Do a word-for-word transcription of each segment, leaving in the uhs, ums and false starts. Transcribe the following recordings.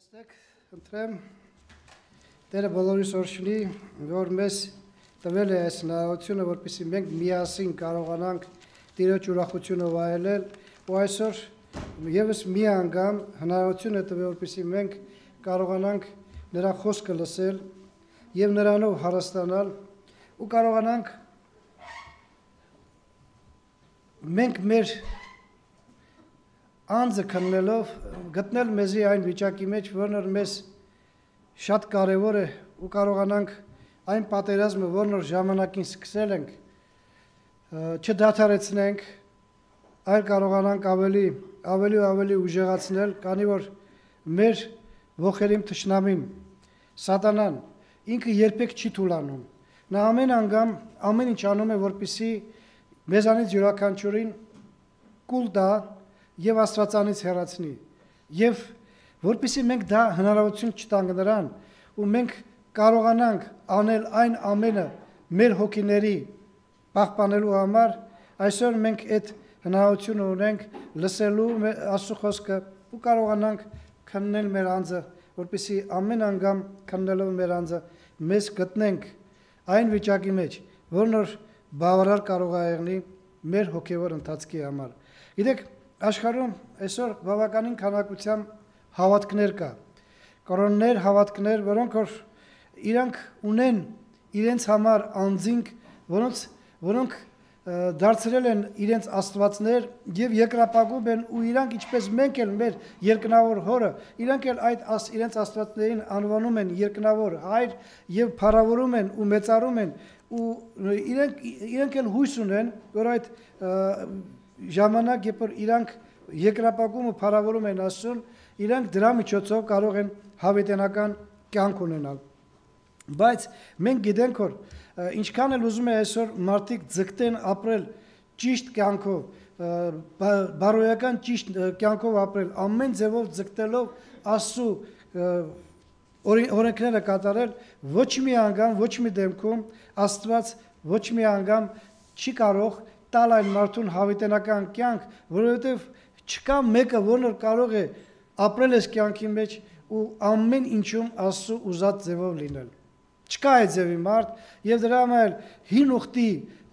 Ստեք, ընտրեմ Տերը բոլորիս օրհնի, որ մեզ տվել է այս հնարավորությունը, որպեսզի մենք միասին կարողանանք Տիրոջ ուրախությունը վայելել, ու այսօր ևս մի անգամ հնարավորություն է տվել, որպեսզի մենք կարողանանք նրա խոսքը լսել եւ նրանով հարստանալ ու կարողանանք մենք մեր անձը քննելով գտնել մեզի այն վիճակի մեջ, որն մեզ շատ կարևոր է ու կարողանանք այն պատերազմը, որն որ ժամանակին սկսել ենք, չդադարեցնենք, այլ կարողանանք ավելի ավելի ու ավելի ուժեղացնել, քանի որ մեր ողերիմ թշնամին սատանան ինքը երբեք չի թուլանում։ Նա ամեն անգամ ամեն ինչ անում է, որպեսզի մեզանից յուրաքանչյուրին կուլ տա եւ Աստվածանից հեռացնի, եւ որպեսզի մենք դա հնարավորություն չտանք նրան, ու մենք կարողանանք անել այն ամենը մեր հոգիների պահպանելու համար, այսօր մենք այդ հնարավորությունը ունենք լսելու Աստծո խոսքը ու կարողանանք քննել մեր անձը, որպեսզի ամեն անգամ քննելով մեր անձը մեզ գտնենք այն վիճակի մեջ, որն որ բավարար կարող է եղնի մեր հոգևոր ընթացքի համար։ Գիտեք, աշխարհում այսօր բավականին քանակությամբ հավատքներ կա, կորոններ հավատքներ, որոնք որ իրանք ունեն իրենց համար անձինք, որոնց որոնք դարձրել են իրենց աստվածներ եւ երկրապագում են, ու իրանք ինչպես մենք էլ մեր երկնավոր հորը, իրանք էլ այդ աս, իրենց աստվածներին անվանում են երկնավոր հայր եւ փառավորում են ու մեծարում են, ու իրանք իրանք էլ հույս ունեն, որ այդ ժամանակ, երբ որ իրանք երկրապագումը փառավորում են Աստծուն, իրանք դրա միջոցով կարող են հավիտենական կյանք ունենալ։ Բայց մենք գիտենք, որ ինչքան էլ ուզում է այսօր մարդիկ ձգտեն ապրել ճիշտ կյանքով, բարոյական ճիշտ կյանքով ապրել, ամեն ձևով ձգտելով Աստծու օրենքները կատարել, ոչ մի անգամ, ոչ մի դեպքում Աստված ոչ մի անգամ չի կարող տալ այն մարդուն հավիտենական կյանք, որովհետև չկա մեկը, որն կարող է ապրել այս կյանքի մեջ ու ամեն ինչում Աստծո ուզած ձևով լինել։ Չկա այդ ձևի մարդ, եւ դրա համար հին ուխտի,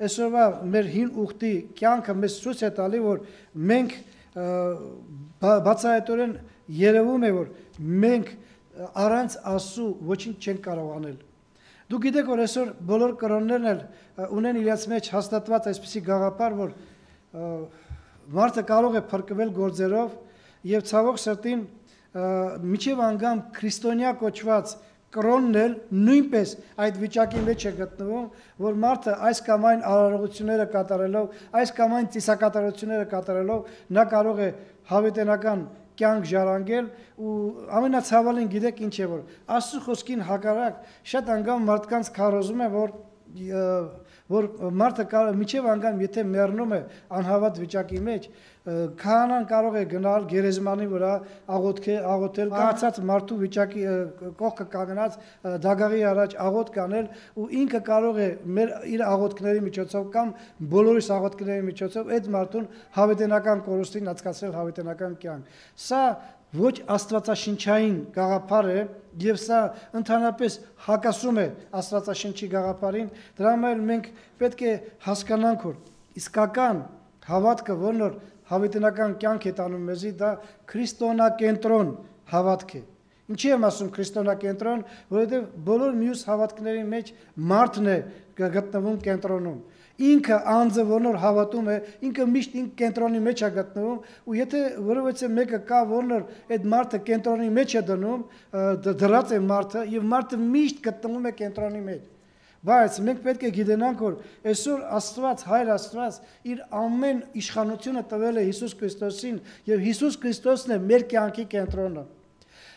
այսօրվա մեր հին ուխտի կյանքը մեզ ցույց է տալի, որ մենք բացահայտորեն երևում է, որ մենք առանց Աստծո ոչինչ չենք կարող անել։ Դու գիտեք, որ այսօր բոլոր կրոններն էլ ունեն իրաց մեջ հաստատված այսպիսի գաղափար, որ մարդը կարող է փրկվել գործերով եւ ցավոք սրտին միջև անգամ քրիստոնյա կոչված կրոնն էլ նույնպես այդ վիճակի մեջ է գտնվում, որ մարդը այս կամ այն արարողությունները կատարելով, այս կամ այն ծիսակատարությունները կատարելով նա կարող է հավիտենական կյանք ժառանգել, ու ամենացավալին գիտեք ինչ է, որ Աստծո խոսքին հակառակ շատ անգամ մարդկանց քարոզում է, որ որ մարդը միջև անգամ եթե մեռնում է անհավատ վիճակի մեջ, քահանան կարող է գնալ գերեզմանի վրա աղոթքը աղոթել, կացած մարդու վիճակի կողքը կանգնած դագաղի առաջ աղոթ կանել, ու ինքը կարող է մեր իր աղոթքների միջոցով կամ բոլորիս աղոթքների միջոցով այդ մարդուն հավիտենական կորուստին անցկացնել հավիտենական կյանք։ Սա ոչ աստվածաշնչային գաղափար է, եւ սա ընդհանրապես հակասում է աստվածաշնչի գաղափարին, դրա համար մենք պետք է հասկանանք, որ իսկական հավատքը, որն որ հավիտենական կյանք է տանում մեզի, դա քրիստոնակենտրոն հավատք է։ Ինչի եմ ասում քրիստոնակենտրոն, որովհետև բոլոր մյուս հավատքների մեջ մարդն է գտնվում կենտրոնում։ Ինքը անձը, որն որ հավատում է, ինքը միշտ ինքը կենտրոնի մեջ է գտնվում, ու եթե որովհետև մեկը կա, որն որ այդ մարդը կենտրոնի մեջ է դնում, դրած է մարդը, եւ մարդը միշտ գտնվում է կենտրոնի մեջ։ Բայց մենք պետք է գիտենանք, որ այսօր Աստված, Հայր Աստված իր ամեն իշխանությունը տվել է Հիսուս Քրիստոսին, եւ Հիսուս Քրիստոսն է մեր կյանքի կենտրոնը։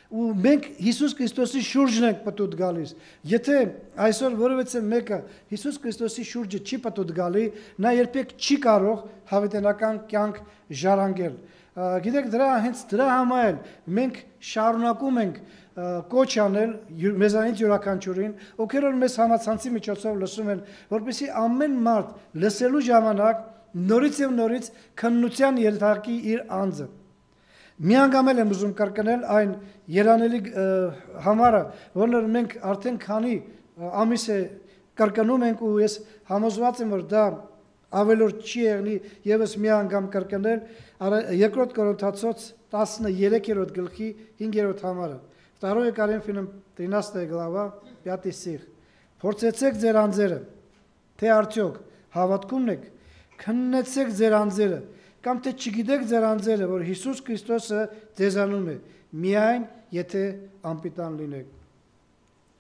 Ու մենք Հիսուս Քրիստոսի շուրջն ենք պատուտ գալիս։ Եթե այսօր որևէ մեկը Հիսուս Քրիստոսի շուրջը չի պատուտ գալի, նա երբեք չի կարող հավիտենական կյանք ժառանգել։ Գիտեք, դրա հենց դրա համար մենք շարունակում ենք կոչ անել մեզանից յուրաքանչյուրին, ովքեր որ մեզ համացանցի միջոցով լսում են, որպեսզի ամեն մարդ լսելու ժամանակ նորից եւ նորից քննության ենթարկի իր անձը։ Միանգամել եմ ուզում կրկնել այն երանելի համարը, որն մենք արդեն քանի ամիս է կրկնում ենք ու ես համոզված եմ, որ դա ավելորդ չի եղնի եւս մի անգամ կրկնել երկրորդ Կորինթացոց տասներորդ գլխի հինգերորդ համարը. Второе Коринфянам тринадцатая глава, пятый стих. Փորձեցեք ձեր անձերը, թե արդյոք հավատքումն եք, քննեցեք ձեր անձերը, կամ թե չգիտեք ձեր անձերը, որ Հիսուս Քրիստոսը ձեզանում է, միայն եթե անպիտան լինեք։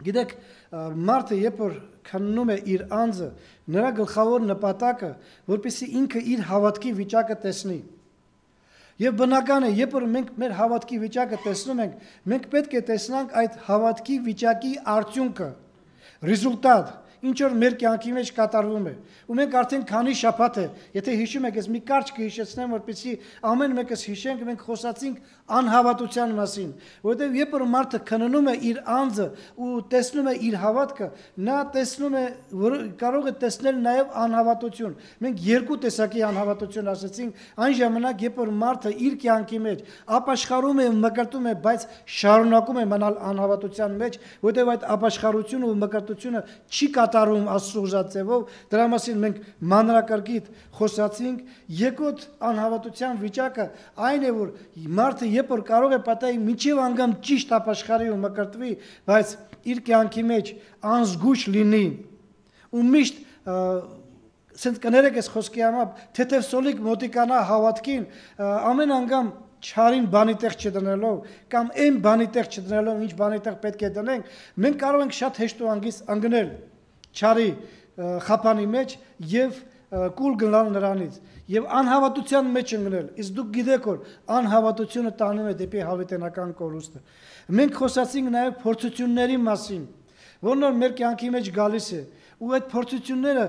Գիտեք, մարդը երբ որ քննում է իր անձը, նրա գլխավոր նպատակը, որպեսզի ինքը իր հավատքի վիճակը տեսնի։ Եվ բնական է, երբ որ մենք մեր հավատքի վիճակը տեսնում ենք, մենք պետք է տեսնանք այդ հավատքի վիճակի արդյունքը, ռեզուլտատ, ինչ որ մեր կյանքի մեջ կատարվում է։ Ու մենք արդեն քանի շաբաթ է, եթե հիշում եք, ես մի կարճ կհիշեցնեմ, որպեսզի ամեն մեկս հիշենք, մենք խոսացինք անհավատության մասին, որովհետև երբ որ մարդը քննում է իր անձը ու տեսնում է իր հավատքը, նա տեսնում է, որ կարող է տեսնել նաև անհավատություն։ Մենք երկու տեսակի անհավատություն ասացինք, այն ժամանակ, երբ որ մարդը իր կյանքի մեջ ապաշխարում է ու մկրտում է, բայց շարունակում է մնալ անհավատության մեջ, որովհետև այդ ապաշխարությունը ու մկրտությունը չի կատարում Աստծո ուզածով, դրա մասին մենք մանրակրկիտ խոսացինք։ Երկրորդ անհավատության վիճակը այն է, որ մարդը երբ որ կարող է պատահի մինչև անգամ ճիշտ ապաշխարի ու մկրտվի, բայց իր կյանքի մեջ անզգույշ լինի ու միշտ սենց կներեք այս խոսքի համար, թեթև սոլիկ մոտիկանա հավատքին, ամեն անգամ չարին բանի տեղ չդնելով կամ այն բանի տեղ չդնելով, ինչ բանի տեղ պետք է դնենք, մենք կարող ենք շատ հեշտ ու անգից ընկնել չարի խափանի մեջ եւ կուլ գնալ նրանից եւ անհավատության մեջ ընկնել։ Իսկ դուք գիտեք, որ անհավատությունը տանում է դեպի հավիտենական կորուստը։ Մենք խոսացինք նաեւ փորձությունների մասին, որն որ մեր կյանքի մեջ գալիս է։ Ու այդ փորձությունները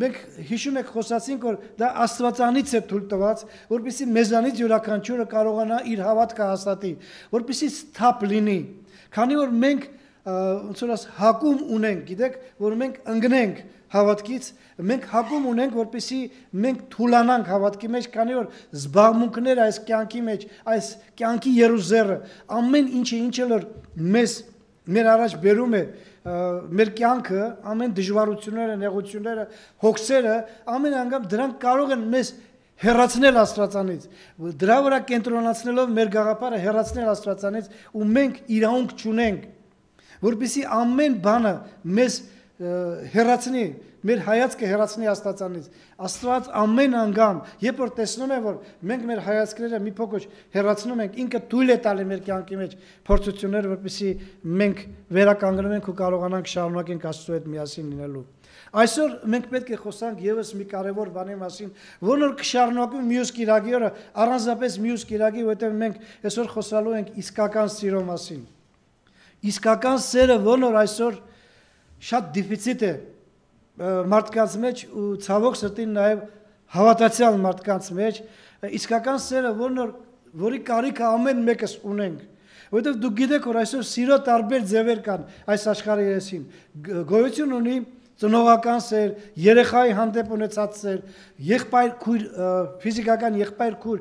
մենք հիշում եք խոսացինք, որ դա Աստվածանից է թույլ տված, որպեսզի մեզանից յուրաքանչյուրը կարողանա իր հավատքը հաստատի, որպեսզի սթափ լինի։ Քանի որ մենք ոնց որ հակում ունենք, գիտեք, որ մենք ընկնենք հավատքից, մենք հակում ունենք, որպեսզի մենք թուլանանք հավատքի մեջ, քանի որ զբաղմունքները այս կյանքի մեջ, այս կյանքի երուզերը, ամեն ինչը ինչը որ մեզ մեր առաջ բերում է մեր կյանքը, ամեն դժվարությունները, նեղությունները, հոգսերը, ամեն անգամ դրանք կարող են մեզ հեռացնել Աստվածանից, դրա վրա կենտրոնացնելով մեր գաղափարը հեռացնել Աստվածանից ու մենք իրավունք չունենք, որպեսզի ամեն բանը մեզ հեռացնի, մեր հայացքը հեռացնի Աստվածանից։ Աստված ամեն անգամ, երբ որ տեսնում է, որ մենք մեր հայացքները մի փոքր հեռացնում ենք, ինքը թույլ է տալի մեր կյանքի մեջ փորձությունները, որպեսզի մենք վերականգնենք ու կարողանանք շարունակենք Աստծո հետ միասին լինելու։ Այսօր մենք պետք է խոսանք եւս մի կարևոր բանի մասին, որն որ կշարունակվի մյուս կիրակի օրը, առանձնապես մյուս կիրակի, որովհետեւ մենք այսօր խոսալու ենք իսկական սիրո մասին։ Իսկական սերը, որն որ այսօր շատ դիֆիցիտ է մարդկանց մեջ ու ցավոք սրտին նաև հավատացյալ մարդկանց մեջ, իսկական սերը, որն որ որի կարիքը ամեն մեկս ունենք, որովհետև դուք գիտեք, որ այսօր սիրո տարբեր ձևեր կան այս աշխարհի երեսին, գոյություն ունի ծնողական սեր, երեխայի հանդեպ ունեցած սեր, եղբայր քույր, ֆիզիկական եղբայր քույր,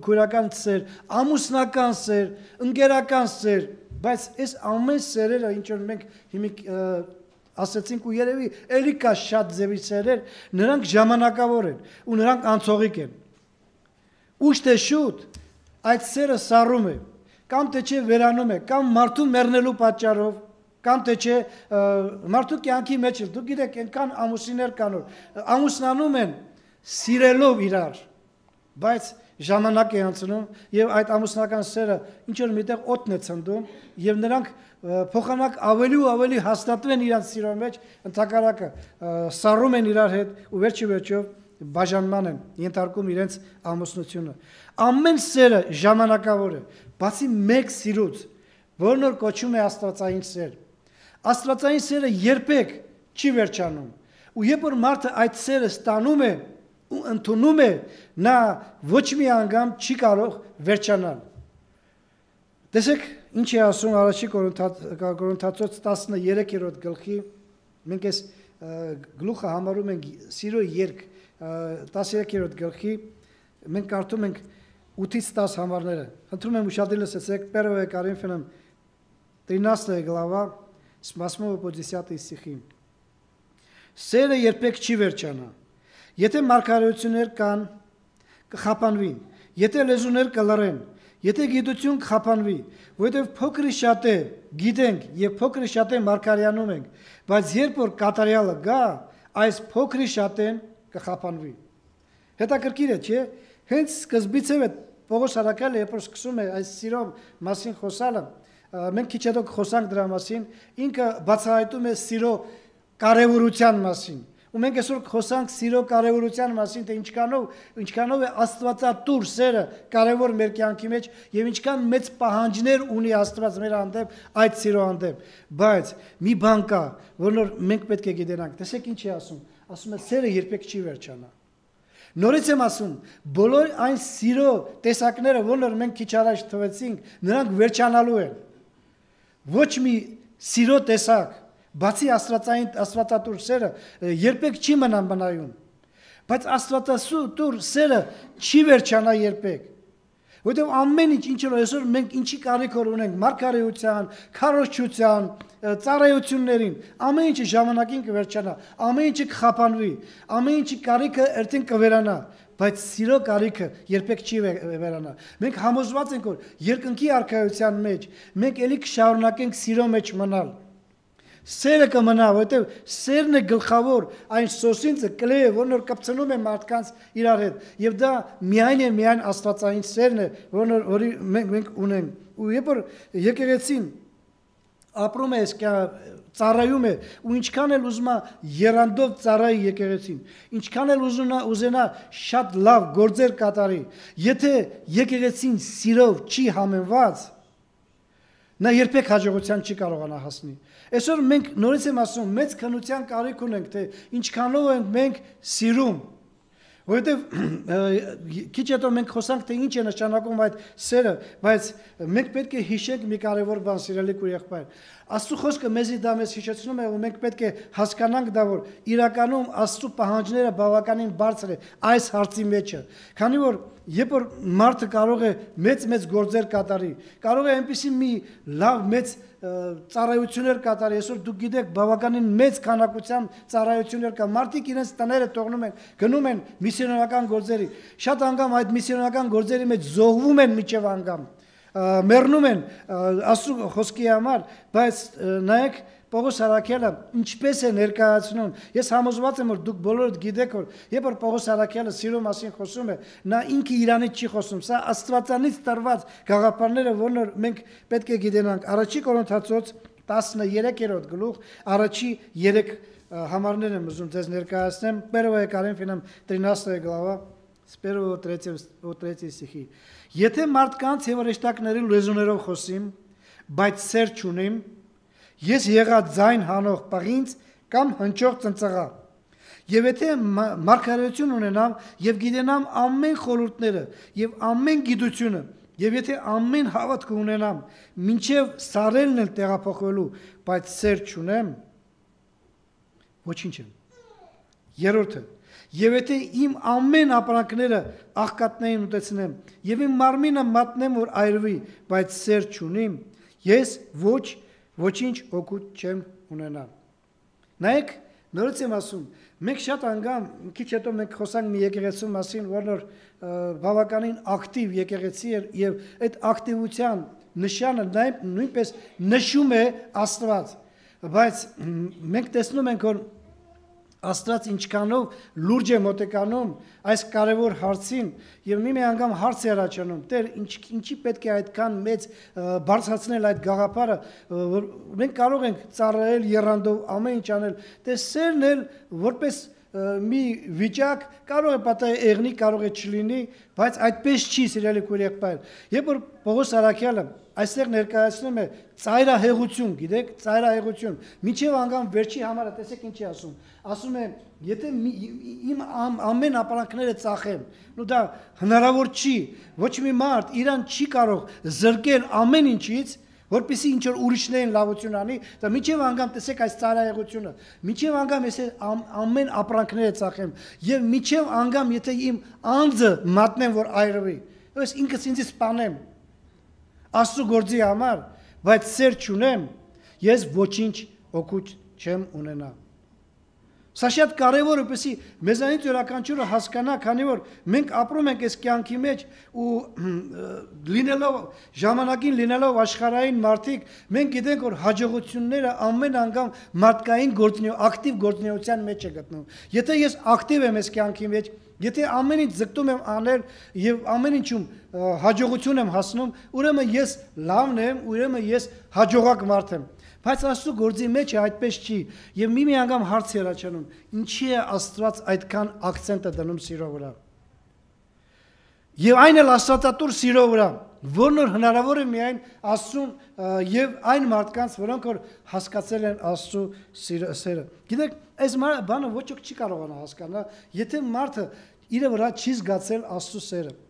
քույրական սեր, ամուսնական սեր, ընկերական սեր, բայց այս ամեն սերերը, ինչ որ մենք հիմիկ ասացինք ու երևի էլի կա շատ ձևի սերեր, նրանք ժամանակավոր են ու նրանք անցողիկ են։ Ուշ թե շուտ այդ սերը սառում է, կամ թե չէ վերանում է, կամ մարդու մեռնելու պատճառով, կամ թե չէ մարդու կյանքի մեջ էլ, դուք գիտեք, այնքան ամուսիններ կան, որ ամուսնանում են սիրելով իրար, բայց ժամանակ է անցնում եւ այդ ամուսնական սերը ինչ որ միտեղ օդն է ցնդում եւ նրանք փոխանակ ավելի ու ավելի հաստատվեն իրենց սիրո մեջ, ընդհակառակը սառում են իրար հետ ու վերջի վերջով բաժանման են ենթարկում իրենց ամուսնությունը։ Ամեն սերը ժամանակավոր է, բացի մեկ սիրուց, որն որ կոչվում է աստվածային սեր։ Աստվածային սերը երբեք չի վերջանում։ Ու երբ որ մարդը այդ սերը ստանում է ու ընդունում է, նա ոչ մի անգամ չի կարող վերջանալ։ Տեսեք, ինչ է ասում առաջի Կորինթացոց տասներորդ գլխի, մենք այս գլուխը համարում ենք սիրո երգ, տասներորդ գլխի, մենք կարդում ենք ութից տասը համարները։ Խնդրում եմ ուշադիր լսեցեք, Первое Коринфянам тринадцатая глава, с восьмого по десятый стихи։ Սերը երբեք չի վերջանա։ Եթե մարգարեություններ կան, կխափանվին, եթե լեզուներ կլռեն, եթե գիտություն կխափանվի, որովհետև փոքրի շատ է գիտենք եւ փոքրի շատ է մարգարեանում ենք, բայց երբ որ կատարյալը գա, այս փոքրի շատեն կխափանվի։ Հետաքրքիր է, չէ՞։ Հենց սկզբից է Պողոս Արաքյալը երբ որ սկսում է այս սիրո մասին խոսալը, մենք քիչ հետո կխոսանք դրա մասին, ինքը բացահայտում է սիրո կարևորության մասին։ Ու մենք այսօր խոսանք սիրո կարևորության մասին, թե ինչքանով, ինչքանով է Աստվածատուր սերը կարևոր մեր կյանքի մեջ եւ ինչքան մեծ պահանջներ ունի Աստված մեր հանդեպ այդ սիրո հանդեպ։ Բայց մի բան կա, որ մենք պետք է գիտենանք։ Տեսեք ինչ է ասում։ Ասում է սերը երբեք չի վերջանա։ Նորից եմ ասում, բոլոր այն սիրո տեսակները, որոնք մենք քիչ առաջ թվեցինք, նրանք վերջանալու են։ Ոչ մի սիրո տեսակ, բացի աստվածային աստվածատուր սերը երբեք չի մնան բնայուն, բայց աստվածատուր սերը չի վերջանա երբեք, որովհետև ամեն ինչ ինչ որ այսօր մենք ինչի կարիք ունենք մարգարեության, քարոզչության, ծառայություններին, ամեն ինչը ժամանակին կվերջանա, ամեն ինչը կխափանվի, ամեն ինչի կարիքը երբեք կվերանա, բայց սիրո կարիքը երբեք չի վերանա։ Մենք համոզված ենք, որ երկնքի արքայության մեջ մենք ելի կշարունակենք սիրո մեջ մնալ։ Սերը կմնա, որովհետև սերն է գլխավոր այն սոսինցը կլեյը, որն որ կպցնում է մարդկանց իրար հետ, եւ դա միայն է միայն աստվածային սերն է, որն որի մենք մենք ունենք։ Ու երբ որ եկեղեցին ապրում է, ծառայում է, ու ինչքան էլ ուզում է երանդով ծառայի եկեղեցին, ինչքան էլ ուզում է ուզենա շատ լավ գործեր կատարի, եթե եկեղեցին սիրով չի համենված, նա երբեք հաջողության չի կարողանա հասնի։ Այսօր մենք նորից եմ ասում, մեծ քննության կարիք ունենք, թե ինչքանով ենք մենք սիրում, որովհետև քիչ հետո մենք խոսանք, թե ինչ է նշանակում այդ սերը, բայց մենք պետք է հիշենք մի կարևոր բան, սիրելի քույր-եղբայր։ Աստծո խոսքը մեզի դա մեզ հիշեցնում է, ու մենք պետք է հասկանանք դա, որ իրականում Աստծո պահանջները բավականին բարձր է այս հարցի մեջը, քանի որ երբ որ մարդը կարող է մեծ-մեծ գործեր կատարի, կարող է այնպիսի մի լավ մեծ ծառայություններ կատարի, այսօր դուք գիտեք բավականին մեծ քանակությամբ ծառայություններ կա, մարդիկ իրենց տները թողնում են, գնում են միսիոներական գործերի, շատ անգամ այդ միսիոներական գործերի մեջ զոհվում են միջև անգամ, մեռնում են Աստծո խոսքի համար, բայց նայեք Պողոս Արաքյալը ինչպես է ներկայացնում։ Ես համոզված եմ, որ դուք բոլորդ գիտեք, որ երբ որ Պողոս Արաքյալը սիրո մասին խոսում է, նա ինքը իրանից չի խոսում, սա աստվածանից տրված գաղափարները, որոնք մենք պետք է գիտենանք։ Առաջի Կորինթացոց տասներեքերորդ գլուխ, առաջի երեք համարներ եմ ուզում ձեզ ներկայացնեմ, Первое Коринфянам тринадцатая глава, с первого по третий стихи։ Եթե մարդկանց եւ հրեշտակների լեզուներով խոսիմ, բայց սեր չունիմ, ես եղած ձայն հանող պղինց կամ հնչող ծնծղա։ Եվ եթե մարգարեություն ունենամ եւ գիտենամ ամեն խորհուրդները եւ ամեն գիտությունը, եւ եթե ամեն հավատք ունենամ, մինչեւ սարելն էլ տեղափոխվելու, բայց սեր չունեմ, ոչինչ եմ։ Երրորդը, եւ եթե իմ ամեն ապրանքները աղքատներին ուտեցնեմ եւ իմ մարմինը մատնեմ, որ այրվի, բայց սեր չունիմ, ես ոչ ոչինչ օգուտ չեմ ունենա։ Նայեք, նորից եմ ասում, մենք շատ անգամ, քիչ հետո մենք խոսանք մի եկեղեցու մասին, որ բավականին ակտիվ եկեղեցի էր եւ այդ ակտիվության նշանը նույնպես նշում է Աստված, բայց մենք տեսնում ենք, որ Աստված ինչքանով լուրջ է մոտեկանում այս կարևոր հարցին եւ մի մի անգամ հարց է առաջանում. Տեր, ինչ ինչի պետք է այդքան մեծ բարձրացնել այդ գաղափարը, որ մենք կարող ենք ծառայել երանդով ամեն ինչ անել, թե սերն էլ որպես մի վիճակ կարող է պատահի եղնի, կարող է չլինի, բայց այդպես չի, սիրելի քույր-եղբայր։ Երբ որ Պողոս Արաքյալը այստեղ ներկայացնում է ծայրահեղություն, գիտեք, ծայրահեղություն, միջև անգամ վերջի համարը, տեսեք ինչ է ասում, ասում է, եթե իմ ամեն ապրանքները ծախեմ, նու դա հնարավոր չի, ոչ մի մարդ իրան չի կարող զրկել ամեն ինչից, որպեսզի ինչ որ ուրիշներին լավություն անի, դա միջև անգամ տեսեք այս ծայրահեղությունը, միջև անգամ ես ամեն ապրանքները ծախեմ, եւ միջև անգամ եթե իմ անձը մատնեմ, որ այրվի, Ես ինքս ինձ սպանեմ Աստծո գործի համար, բայց սեր չունեմ, ես ոչինչ օգուտ չեմ ունենա։ Սա շատ կարևոր է, որպեսզի մեզանից յուրաքանչյուրը հասկանա, քանի որ մենք ապրում ենք այս կյանքի մեջ ու լինելով ժամանակին լինելով աշխարհային մարդիկ, մենք գիտենք, որ հաջողությունները ամեն անգամ մարդկային գործունեություն, ակտիվ գործունեության մեջ է գտնվում։ Եթե ես ակտիվ եմ այս կյանքի մեջ, եթե ամեն ինչ ձգտում եմ անել եւ ամեն ինչում հաջողություն եմ հասնում, ուրեմն ես լավն եմ, ուրեմն ես հաջողակ մարդ եմ։ Բայց Աստծո գործի մեջ է այդպես չի, եւ մի-մի անգամ հարց երաչանում, ինչի է Աստված այդքան ակցենտը դնում սիրո վրա։ Եվ այն էլ աստվածատուր սիրո վրա, որն որ հնարավոր է միայն Աստծուն եւ այն մարդկանց, որոնք որ հասկացել են Աստծո սերը։ Գիտեք, այս բանը ոչ ոք չի կարողանա հասկանալ, եթե մարդը իր վրա չի զգացել Աստծո սերը։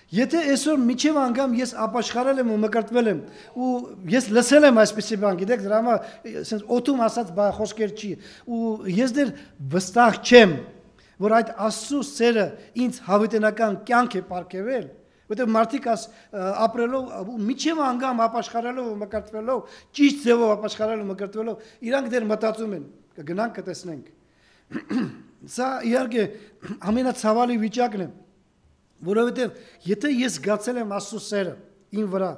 Եթե այսօր միջև անգամ ես ապաշխարել եմ ու մկրտվել եմ ու ես լսել եմ այսպիսի բան, գիտեք, դրա համար ասենց օտում ասած բա խոսքեր չի ու ես դեռ վստահ չեմ, որ այդ Աստծո սերը ինձ հավիտենական կյանք է պարգևել, որտեղ մարդիկ ապրելով միջև անգամ ապաշխարելով ու մկրտվելով, ճիշտ ձևով ապաշխարելով ու մկրտվելով, իրանք դեռ մտածում են, կգնանք կտեսնենք։ Սա իհարկե ամենացավալի վիճակն է, որովհետև եթե ես զգացել եմ Աստծո սերը իմ վրա,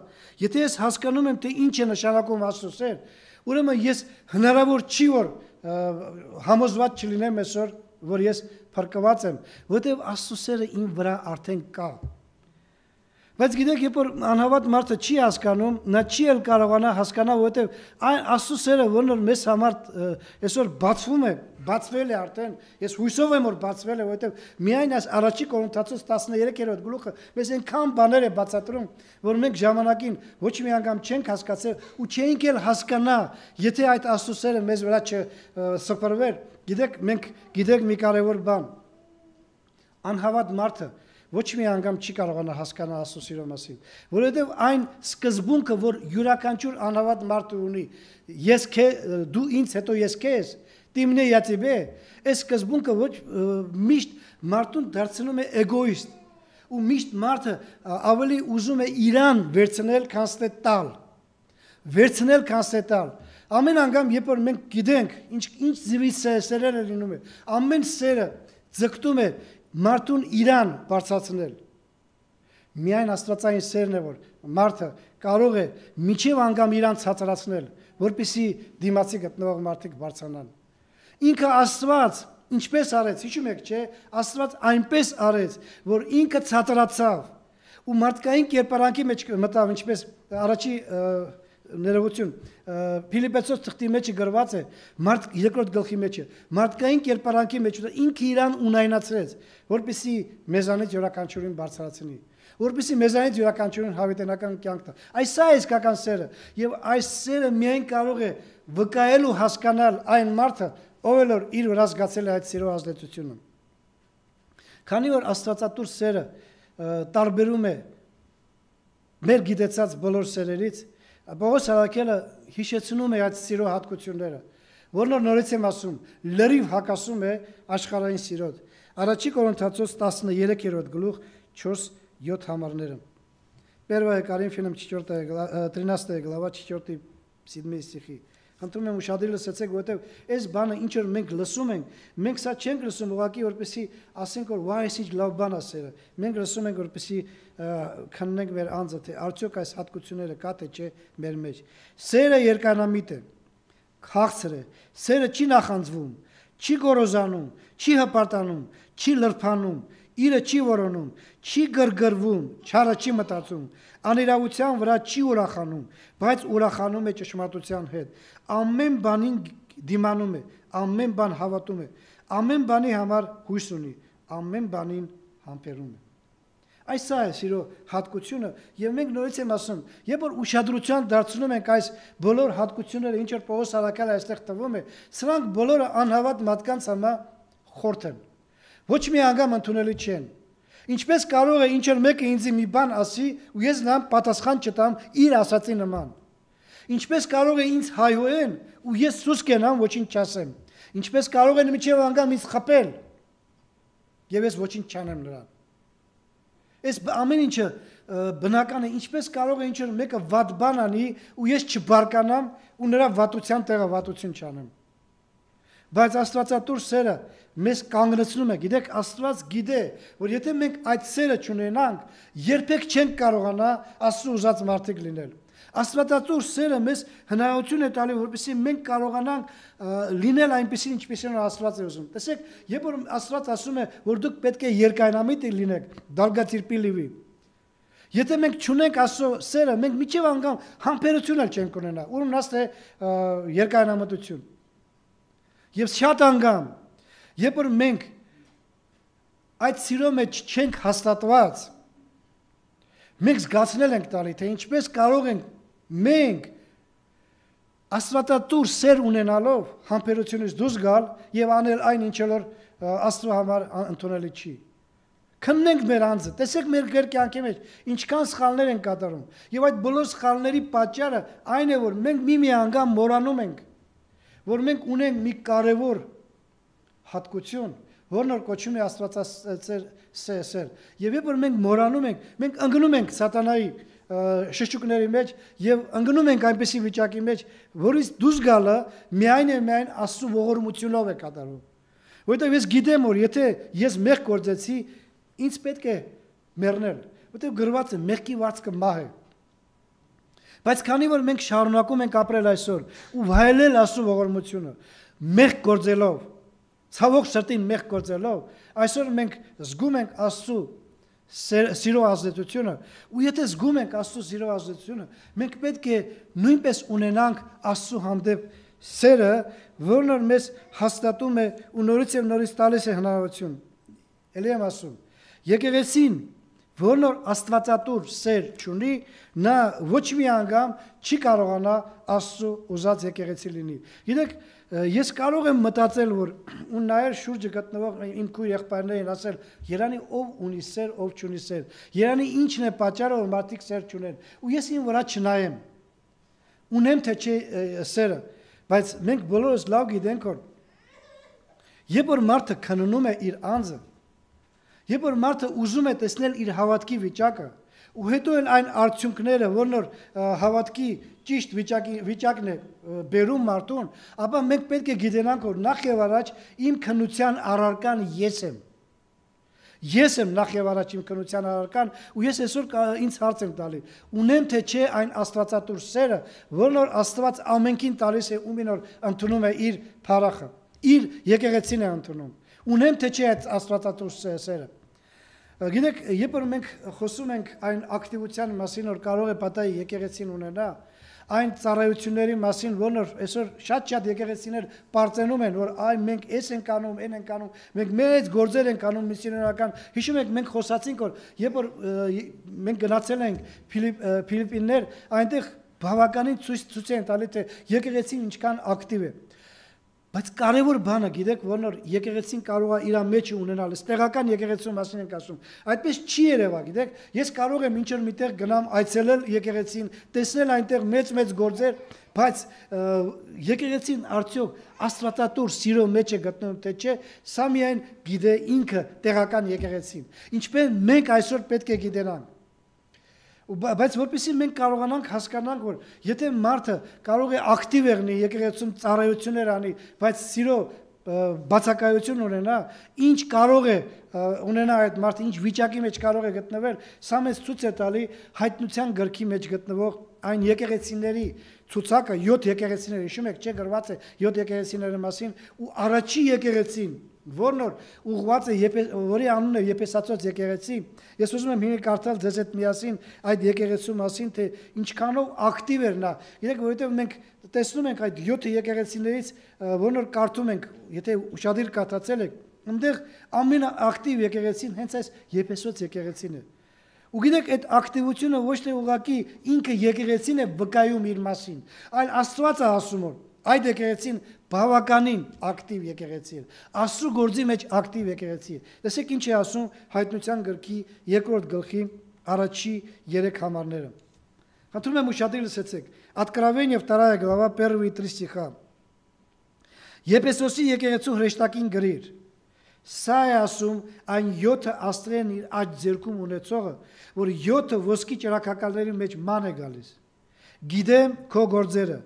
եթե ես հասկանում եմ, թե ինչ է նշանակում Աստծո սեր, ուրեմն ես հնարավոր չի որ համոզված չլինեմ այսօր, որ ես փրկված եմ, որովհետև Աստծո սերը իմ վրա արդեն կա։ Բայց գիտեք, երբ որ անհավատ մարդը չի հասկանում, նա չի էլ կարողանա հասկանալ, որովհետև այն Աստծո սերը, որն որ մեզ համար այսօր բացվում է, բացվել է արդեն, ես հույսով եմ որ բացվել է, որովհետև միայն այս առաջի Կորինթացոց տասներեքերորդ գլուխը մեզ այնքան բաներ է բացատրում, որ մենք ժամանակին ոչ մի անգամ չենք հասկացել ու չենք էլ հասկանա, եթե այդ Աստծո սերը մեզ վրա չսփռվեր։ Գիտեք, մենք գիտենք մի կարևոր բան։ Անհավատ մարդը ոչ մի անգամ չի կարողանա հասկանալ Աստծո սիրո մասին, որովհետև այն սկզբունքը, որ յուրաքանչյուր անհավատ մարդը ունի, ես քե դու ինձ հետո ես քեզ, դիմնե я тебе, այս սկզբունքը ոչ միշտ մարդուն դարձնում է էգոիստ, ու միշտ մարդը ավելի ուզում է իրան վերցնել, քան թե տալ, վերցնել, քան թե տալ։ Ամեն անգամ, երբ որ մենք գիտենք, ինչ ինչ ձևի սերերը լինում է, ամեն սերը ձգտում է մարդուն իրան բարձրացնել։ Միայն աստվածային սերն է, որ մարդը կարող է միջև անգամ իրան ցածրացնել, որպեսզի դիմացի գտնվող մարդիկ բարձրանան։ Ինքը Աստված ինչպես արեց, հիշում եք, չէ՞, Աստված այնպես արեց, որ ինքը ցածրացավ ու մարդկային կերպարանքի մեջ մտավ, ինչպես առաջի ներողություն Փիլիպպեցոց թղթի մեջ գրված է, մարդ երկրորդ գլխի մեջ է, մարդկային կերպարանքի մեջ ինքը իրան ունայնացրեց, որպեսզի մեզանից յուրաքանչյուրին բարձրացնի, որպեսզի մեզանից յուրաքանչյուրին հավիտենական կյանք տա։ Այս է իսկական սերը, եւ այս սերը միայն կարող է վկայել ու հասկանալ այն մարդը, ով էլ իր վրա զգացել է այդ սիրո ազդեցությունը։ Քանի որ աստվածատուր սերը տարբերում է մեր գիտեցած բոլոր սերերից, Պողոս Արաքելը հիշեցնում է այդ սիրո հատկությունները, որն նորից եմ ասում, լրիվ հակասում է աշխարհային սիրոտ։ Առաջի Կորինթացոց տասներեքերորդ գլուխ չորս-յոթ համարները։ Первое Коринфянам тринадцатая глава четвёртый седьмой стихи։ Խնդրում եմ ուշադիր լսեցեք, որովհետև այս բանը ինչ որ մենք լսում ենք, մենք սա չենք լսում ուղղակի որպեսի ասենք որ վայ, ինչ լավ բան է սերը։ Մենք լսում ենք որպեսի քննենք մեր անձը, թե արդյոք այս հատկությունները կա թե չէ մեր մեջ։ Սերը երկանամիտ է, քաղցր է, սերը չի նախանձվում, չի գոռոզանում, չի հպարտանում, չի լրփանում, իրը չի որոնում, չի գրգռվում, չարը չի մտածում, անիրավության վրա չի ուրախանում, բայց ուրախանում է ճշմարտության հետ, ամեն բանին դիմանում է, ամեն բան հավատում է, ամեն բանի համար հույս ունի, ամեն բանին համբերում է։ Այս է սիրո հատկությունը, եւ մենք նորից եմ ասում, երբ որ ուշադրության դարձնում ենք այս բոլոր հատկությունները, ինչ որ Պողոս Արաքելը այստեղ տվում է, սրանք բոլորը անհավատ մարդկանց համար խորթ են։ Ոչ մի անգամ ընդունելի չեն։ Ինչպես կարող է ինչ որ մեկը ինձ մի բան ասի ու ես նրան պատասխան չտամ իր ասածի նման։ Ինչպես կարող է ինձ հայհոյեն ու ես սուս կենամ ոչինչ չասեմ։ Ինչպես կարող են միջև անգամ ինձ խփել եւ ես ոչինչ չանեմ նրան։ Այս ամեն ինչը բնական է, ինչպես կարող է ինչ-որ մեկը վատ բան անի ու ես չբարկանամ ու նրա վատության տեղը վատություն չանեմ։ Բայց Աստվածատուր սերը մեզ կանգնեցնում է, գիտեք, Աստված գիտե, որ եթե մենք այդ սերը չունենանք, երբեք չենք կարողանա Աստծո ուզած մարդիկ լինել։ Աստվածատուր սերը մեզ հնարավորություն է տալի, որպեսզի մենք կարողանանք լինել այնպեսին, ինչպեսին որ Աստված է ուզում։ Տեսեք, երբ որ Աստված ասում է, որ դուք պետք է երկայնամիտ լինեք, դալգատիրպի լիվի։ Եթե մենք չունենք Աստծո սերը, մենք միջև անգամ համբերություն էլ չենք ունենա, ուրեմն աստ է երկայնամտություն։ Եվ շատ անգամ, երբ որ մենք այդ սիրո մեջ չենք հաստատված, մենք զգացնել ենք տալի, թե ինչպես կարող ենք մենք Աստվածատուր սեր ունենալով համբերությունից դուրս գալ եւ անել այն ինչ որ Աստծո համար ընդունելի չի։ Քննենք մեր անձը, տեսեք մեր կյանքի մեջ ինչքան սխալներ են կատարում։ Եվ այդ բոլոր սխալների պատճառը այն է, որ մենք մի-մի անգամ մոռանում ենք, որ մենք ունենք մի կարևոր հատկություն, որն որ կոչվում է Աստվածածեր սեր։ Եվ երբ որ մենք մոռանում ենք, մենք ընկնում ենք սատանայի շշուկների մեջ եւ ընկնում ենք այնպեսի վիճակի մեջ, որից դուրս գալը միայն եւ միայն Աստծո ողորմությունով է կատարվում։ Որովհետեւ ես գիտեմ, որ եթե ես մեղ գործեցի, ինձ պետք է մեռնել, որովհետեւ գրված է մեղքի վարձքը մահ է։ Բայց քանի որ մենք շարունակում ենք ապրել այսօր ու վայելել Աստծո ողորմությունը, մեղ գործելով, ցավոք սրտին մեղ գործելով, այսօր մենք զգում ենք Աստծո սիրո ազդեցությունը, ու եթե զգում ենք Աստծո սիրո ազդեցությունը, մենք պետք է նույնպես ունենանք Աստծո հանդեպ սերը, որն որ մեզ հաստատում է ու նորից եւ նորից տալիս է հնարավորություն։ Էլի եմ ասում, եկեղեցին, որն որ Աստվածատուր սեր չունի, նա ոչ մի անգամ չի կարողանա Աստծո ուզած եկեղեցի լինի։ Գիտեք, ես կարող եմ մտածել, որ ու նայել շուրջը գտնվող իմ քույր եղբայրներին ասել, Երանի ով ունի սեր, ով չունի սեր։ Երանի ինչն է պատճառը, որ մարդիկ սեր չունեն։ Ու ես ին վրա չնայեմ։ Ունեմ թե չէ սերը, բայց մենք բոլորս լավ գիտենք, որ երբ որ մարդը քննում է իր անձը, երբ որ մարդը ուզում է տեսնել իր հավատքի վիճակը, ու հետո էլ այն արդյունքները, որն որ հավատքի ճիշտ վիճակի վիճակն է բերում մարդուն, ապա մենք պետք է գիտենանք, որ նախ եւ առաջ իմ քնության առարկան ես եմ։ Ես եմ նախ եւ առաջ իմ քնության առարկան, ու ես այսօր ինձ հարց եմ տալի, ունեմ թե չէ այն Աստվածատուր սերը, որն որ Աստված ամենքին տալիս է, ումին որ ընդունում է իր փառախը, իր եկեղեցին է ընդունում։ Ունեմ թե չէ այդ Աստվածատուր սերը։ Գիտեք, երբ որ մենք խոսում ենք այն ակտիվության մասին, որ կարող է պատահի եկեղեցին ունենա, այն ծառայությունների մասին, որն որ այսօր շատ-շատ եկեղեցիներ պարծենում են, որ այ մենք էս ենք անում, այն ենք անում, մենք մեծ գործեր ենք անում միսիոներական։ Հիշում եք, մենք խոսացինք, որ երբ որ մենք գնացել ենք Ֆիլիպիններ, այնտեղ բավականին ցույց են տալի, թե եկեղեցին ինչքան ակտիվ է։ Բայց կարևոր բանը, գիտեք, որն որ եկեղեցին կարող է իր մեջ ունենալ, տեղական եկեղեցու մասին ենք ասում։ Այդպես չի երևա, գիտեք, ես կարող եմ ինչ-որ միտեղ գնամ այցելել եկեղեցին, տեսնել այնտեղ մեծ-մեծ գործեր, բայց եկեղեցին արդյոք Աստվածատուր սիրո մեջ է գտնվում թե չէ, սա միայն գիտե ինքը տեղական եկեղեցին։ Ինչպես մենք այսօր պետք է գիտենանք։ Բայց որպեսզի մենք կարողանանք հասկանանք, որ եթե մարդը կարող է ակտիվ եղնի եկեղեցում ծառայություններ անի, բայց սիրո բացակայություն ունենա, ինչ կարող է ունենա այդ մարդը, ինչ վիճակի մեջ կարող է գտնվել, սա մեզ ցույց է տալի հայտնության գրքի մեջ գտնվող այն եկեղեցիների ցուցակը, յոթ եկեղեցիներ, հիշում եք, չէ՞ գրված է յոթ եկեղեցիների մասին, ու առաջի եկեղեցին, որն որ ուղղված է, որի անունը Եփեսացոց եկեղեցի, ես ուզում եմ հիմա կարդալ ձեզ հետ միասին այդ եկեղեցու մասին, թե ինչքանով ակտիվ էր նա։ Գիտեք, որովհետև մենք տեսնում ենք այդ յոթ եկեղեցիներից, որն որ կարդում ենք, եթե ուշադիր կարդացել եք, այնտեղ ամենաակտիվ եկեղեցին հենց այս Եփեսոց եկեղեցին է։ Ու գիտեք, այդ ակտիվությունը ոչ թե ուղղակի ինքը եկեղեցին է վկայում իր մասին, այլ Աստված է ասում, որ այդ եկեղեցին բավականին ակտիվ եկեղեցի է, Աստծո գործի մեջ ակտիվ եկեղեցի է։ Տեսեք ինչ է ասում Հայտնության գրքի երկրորդ գլխի առաջի երեք համարները։ Խնդրում եմ ուշադիր լսեցեք, Откровение вторая глава первые три стиха։ Եփեսոսի եկեղեցու հրեշտակին գրիր, Սա է ասում այն յոթը աստղերն իր աջ ձեռքում ունեցողը, որ յոթը ոսկի ճրագակալների մեջ ման է գալիս։ Գիտեմ քո գործերը,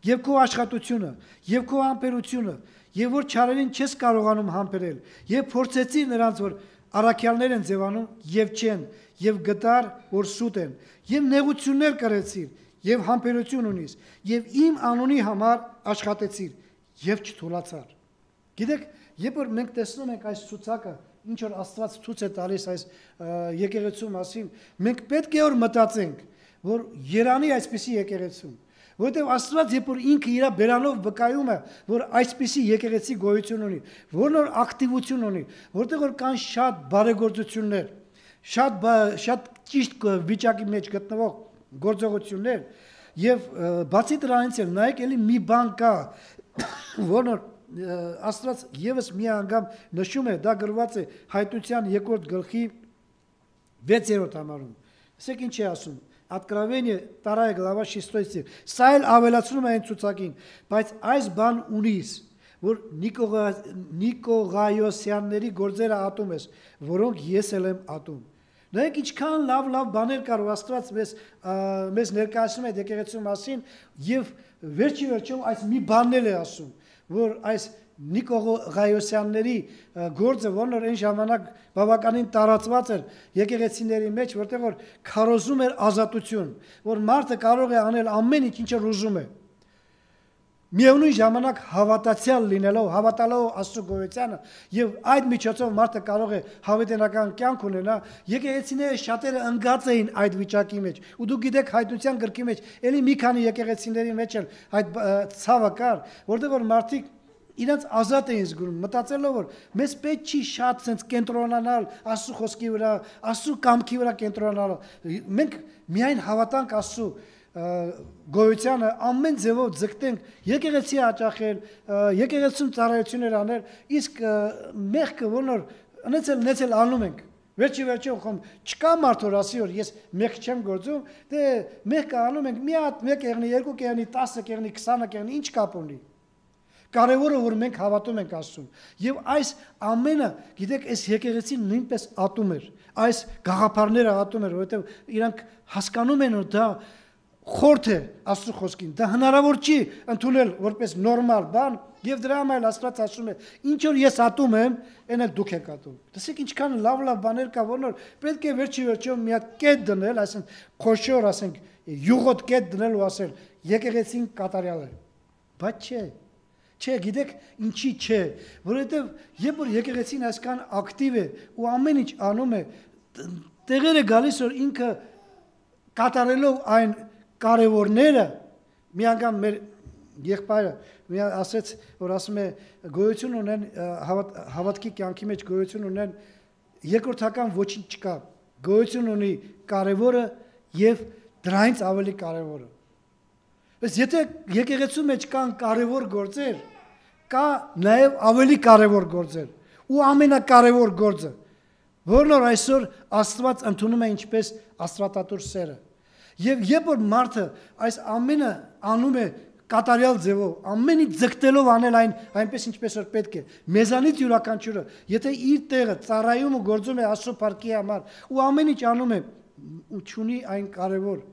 եւ քո աշխատությունը, եւ քո համբերությունը, եւ որ չարերին չես կարողանում համբերել, եւ փորձեցիր նրանց, որ առաքյալներ են ձևանում եւ չեն, եւ գտար, որ սուտ են, եւ նեղություններ կրեցիր, եւ համբերություն ունիս, եւ իմ անունի համար աշխատեցիր, եւ չթուլացար։ Գիտեք, երբ որ մենք տեսնում ենք այս ցուցակը, ինչ որ Աստված ցույց է տալիս այս եկեղեցու մասին, մենք պետք է որ մտածենք, որ Երանի այսպիսի եկեղեցու, որտեղ Աստված երբ որ ինքը իր բերանով վկայում է, որ այսպիսի եկեղեցի գոյություն ունի, որ նոր ակտիվություն ունի, որտեղ որ կան շատ բարեգործություններ, շատ շատ ճիշտ վիճակի մեջ գտնվող գործողություններ, եւ բացի դրանից էլ նայեք էլի մի բան կա, որ նոր Աստված եւս մի անգամ նշում է, դա գրված է Հայտնության երկրորդ գլխի վեցերորդ համարում։ Ասեք ինչ է ասում։ Откровение вторая глава шестой стих։ Սա էլ ավելացնում է այն ցուցակին, բայց այս բան ունիս, որ Նիկողայոսյանների գործերը ատում ես, որոնք ես էլ եմ ատում։ Նայեք ինչքան լավ լավ բաներ կար Աստված մեզ մեզ ներկայացնում է եկեղեցու մասին եւ վերջի վերջում այս մի բաններ է ասում, որ այս Նիկողայոսյանների գործը, որն որ այն ժամանակ բավականին տարածված էր եկեղեցիների մեջ, որտեղ որ քարոզում էր ազատություն, որ մարդը կարող է անել ամեն ինչ, ինչ ուզում է։ Միևնույն ժամանակ հավատացյալ լինելով, հավատալով Աստծո գոյությանը եւ այդ միջոցով մարդը կարող է հավիտենական կյանք ունենալ, եկեղեցիները շատերը ընկած էին այդ վիճակի մեջ։ Ու դուք գիտեք Հայտնության գրքի մեջ էլի մի քանի եկեղեցիների մեջ էլ այդ ցավը կար, որտեղ որ մարդիկ իրենց ազատ էին զգում, մտածելով որ մեզ պետք չի շատ sense կենտրոնանալ Աստծո խոսքի վրա, Աստծո կամքի վրա կենտրոնանալ։ Մենք միայն հավատանք Աստծո գոյությանը ամեն ձևով ձգտենք եկեղեցի հաճախել, եկեղեցում ծառայություններ անել, իսկ մեղքը ոնոր ունեցել ունեցել անում ենք։ Վերջի վերջում խոմ չկա մարդ որ ասի որ ես մեղք չեմ գործում, դե մեղքը անում ենք մի հատ մեկ եղնի, երկու կեղնի, տասը կեղնի, քսանը կեղնի, ինչ կապ ունի։ Կարևորը որ մենք հավատում ենք Աստծուն։ Եվ այս ամենը, գիտեք, այս եկեղեցին նույնպես ատում էր։ Այս գաղափարները ատում էր, որովհետև իրանք հասկանում են որ դա խորթ է Աստծո խոսքին։ Դա հնարավոր չի ընդունել որպես նորմալ բան, եւ դրա համար Աստված ասում է, ինչ որ ես ատում եմ, այն էլ դուք եք ատում։ Տեսեք ինչքան լավ-լավ բաներ կա, որ պետք է վերջի վերջում մի հատ կետ դնել, այսինքն խոշոր, ասենք, յուղոտ կետ դնել ու ասել, եկեղեցին կատարյալ է։ Բայց չէ։ Չէ, գիտեք, ինչի չէ, որովհետև երբ որ եկեղեցին այսքան ակտիվ է ու ամեն ինչ անում է, տեղերը գալիս որ ինքը կատարելով այն կարևորները, մի անգամ մեր եղբայրը մի ասեց, որ ասում է գոյություն ունեն հավատքի կյանքի մեջ գոյություն ունեն երկրորդական ոչինչ չկա, գոյություն ունի կարևորը եւ դրանից ավելի կարևորը։ Բայց եթե եկեղեցու մեջ կան կարևոր գործեր, կա նաև ավելի կարևոր գործեր, ու ամենակարևոր գործը, որն որ այսօր Աստված ընդունում է ինչպես աստվածատուր սերը։ Եվ երբ որ մարդը այս ամենը անում է կատարյալ ձևով, ամեն ինչ ձգտելով անել այն այնպես ինչպես որ պետք է, մեզանից յուրաքանչյուրը, եթե իր տեղը ծառայում ու գործում է Աստծո փառքի համար, ու ամեն ինչ անում է ու չունի այն կարևոր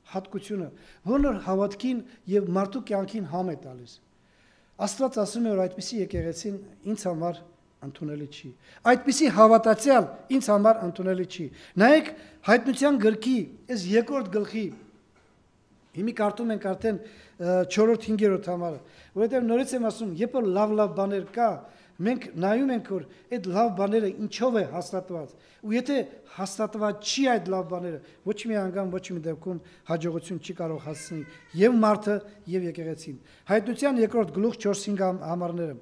հատկությունը, որն որ հավատքին եւ մարդու կյանքին համ է տալիս։ Աստված ասում է որ այդպիսի եկեղեցին ինձ համար ընդունելի չի։ Այդպիսի հավատացյալ ինձ համար ընդունելի չի։ Նայեք Հայտնության գրքի այս երկրորդ գլխի հիմի կարդում ենք արդեն չորրորդ հինգերորդ համարը, որովհետեւ նորից եմ ասում, երբ որ լավ-լավ բաներ կա, մենք նայում ենք որ այդ լավ բաները ինչով է հաստատված, ու եթե հաստատված չի այդ լավ բաները, ոչ մի անգամ ոչ մի դեպքում հաջողություն չի կարող հասցնել եւ մարդը եւ եկեղեցին։ Հայտնության երկրորդ գլուխ չորս-հինգ համարները։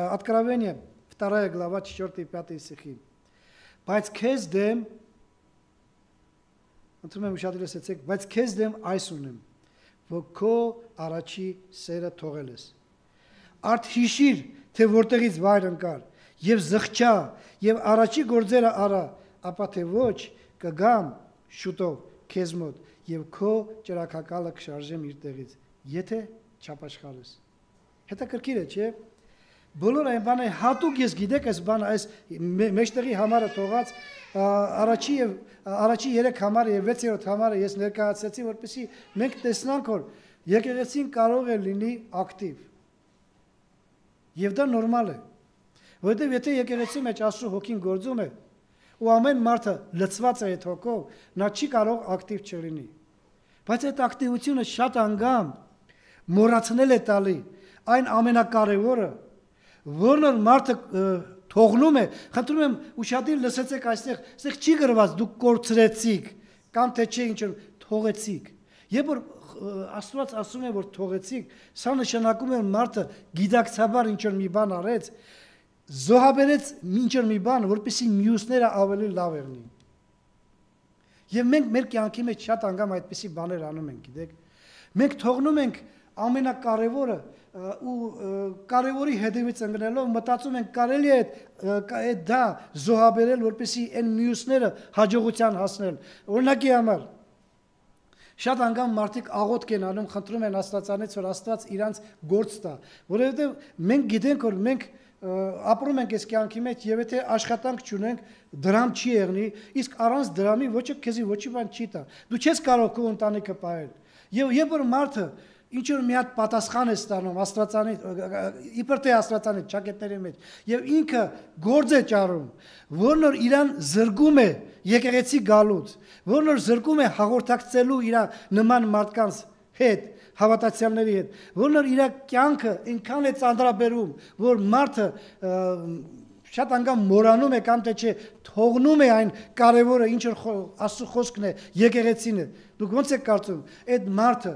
Откровение вторая глава четвёртый пятый стихи։ Բայց քեզ դեմ ընդունում եմ շատ լսեցեք, բայց քեզ դեմ այս ունեմ, որ քո առաջի սերը թողել ես։ Արդ հիշիր, թե որտեղից վայր ընկար, եւ զղջա, եւ առաջի գործերը արա, ապա թե ոչ կգամ շուտով քեզ մոտ եւ քո ճրագակալը կշարժեմ իր տեղից, եթե չապաշխարես։ Հետաքրքիր է, չէ՞։ բոլոր այն բանը հատուկ ես գիտեք այս բանը այս մեջտեղի համարը թողած առաջի եւ առաջի երեք համարը եւ վեցերորդ համարը ես ներկայացրեցի որպեսզի մենք տեսնանք որ եկեղեցին կարող է լինի ակտիվ եւ դա նորմալ է որովհետեւ եթե եկեղեցու մեջ Աստծո հոգին գործում է ու ամեն մարդը լցված է այդ հոգով նա չի կարող ակտիվ չլինի բայց այդ ակտիվությունը շատ անգամ մոռացնել է տալի այն ամենակարևորը որն որ մարդը թողնում է խնդրում եմ ուշադիր լսեցեք այստեղ այստեղ չի գրված դուք կորցրեցիք կամ թե չէ ինչ որ թողեցիք երբ որ Աստված ասում է որ թողեցիք սա նշանակում է որ մարդը գիտակցաբար ինչ որ մի բան արեց զոհաբերեց ինչ որ մի բան որպեսզի մյուսները ավելի լավ եղնին եւ մենք մեր կյանքի մեջ շատ անգամ այդպիսի բաներ անում ենք գիտեք մենք թողնում ենք ամենակարևորը ու կարևորի հետևից ընկնելով մտածում ենք կարելի է այդ դա զոհաբերել որպեսզի այն մյուսները հաջողության հասնել օրինակի համար շատ անգամ մարդիկ աղոթք են անում խնդրում են Աստվածանից որ Աստված իրանց գործ տա որովհետև մենք գիտենք որ մենք ապրում ենք այս կյանքի մեջ եւ եթե աշխատանք չունենք դրամ չի եղնի իսկ առանց դրամի ոչը քեզի ոչի բան չի տա դու չես կարող քո ընտանիքը պահել եւ երբ որ մարդը ինչ որ մի հատ պատասխան է ստանում Աստվածանի իբր թե Աստվածանի ճակետների մեջ եւ ինքը գործ է ճարում որն որ իրան զրկում է եկեղեցի գալուց որն որ զրկում է հաղորդակցելու իր նման մարդկանց հետ հավատացյալների հետ որն որ իր կյանքը ինքան է ծանրաբերում որ մարդը շատ անգամ մոռանում է կամ թե չէ թողնում է այն կարևորը ինչ որ Աստծո խոսքն է եկեղեցին է դուք ո՞նց եք կարծում այդ մարդը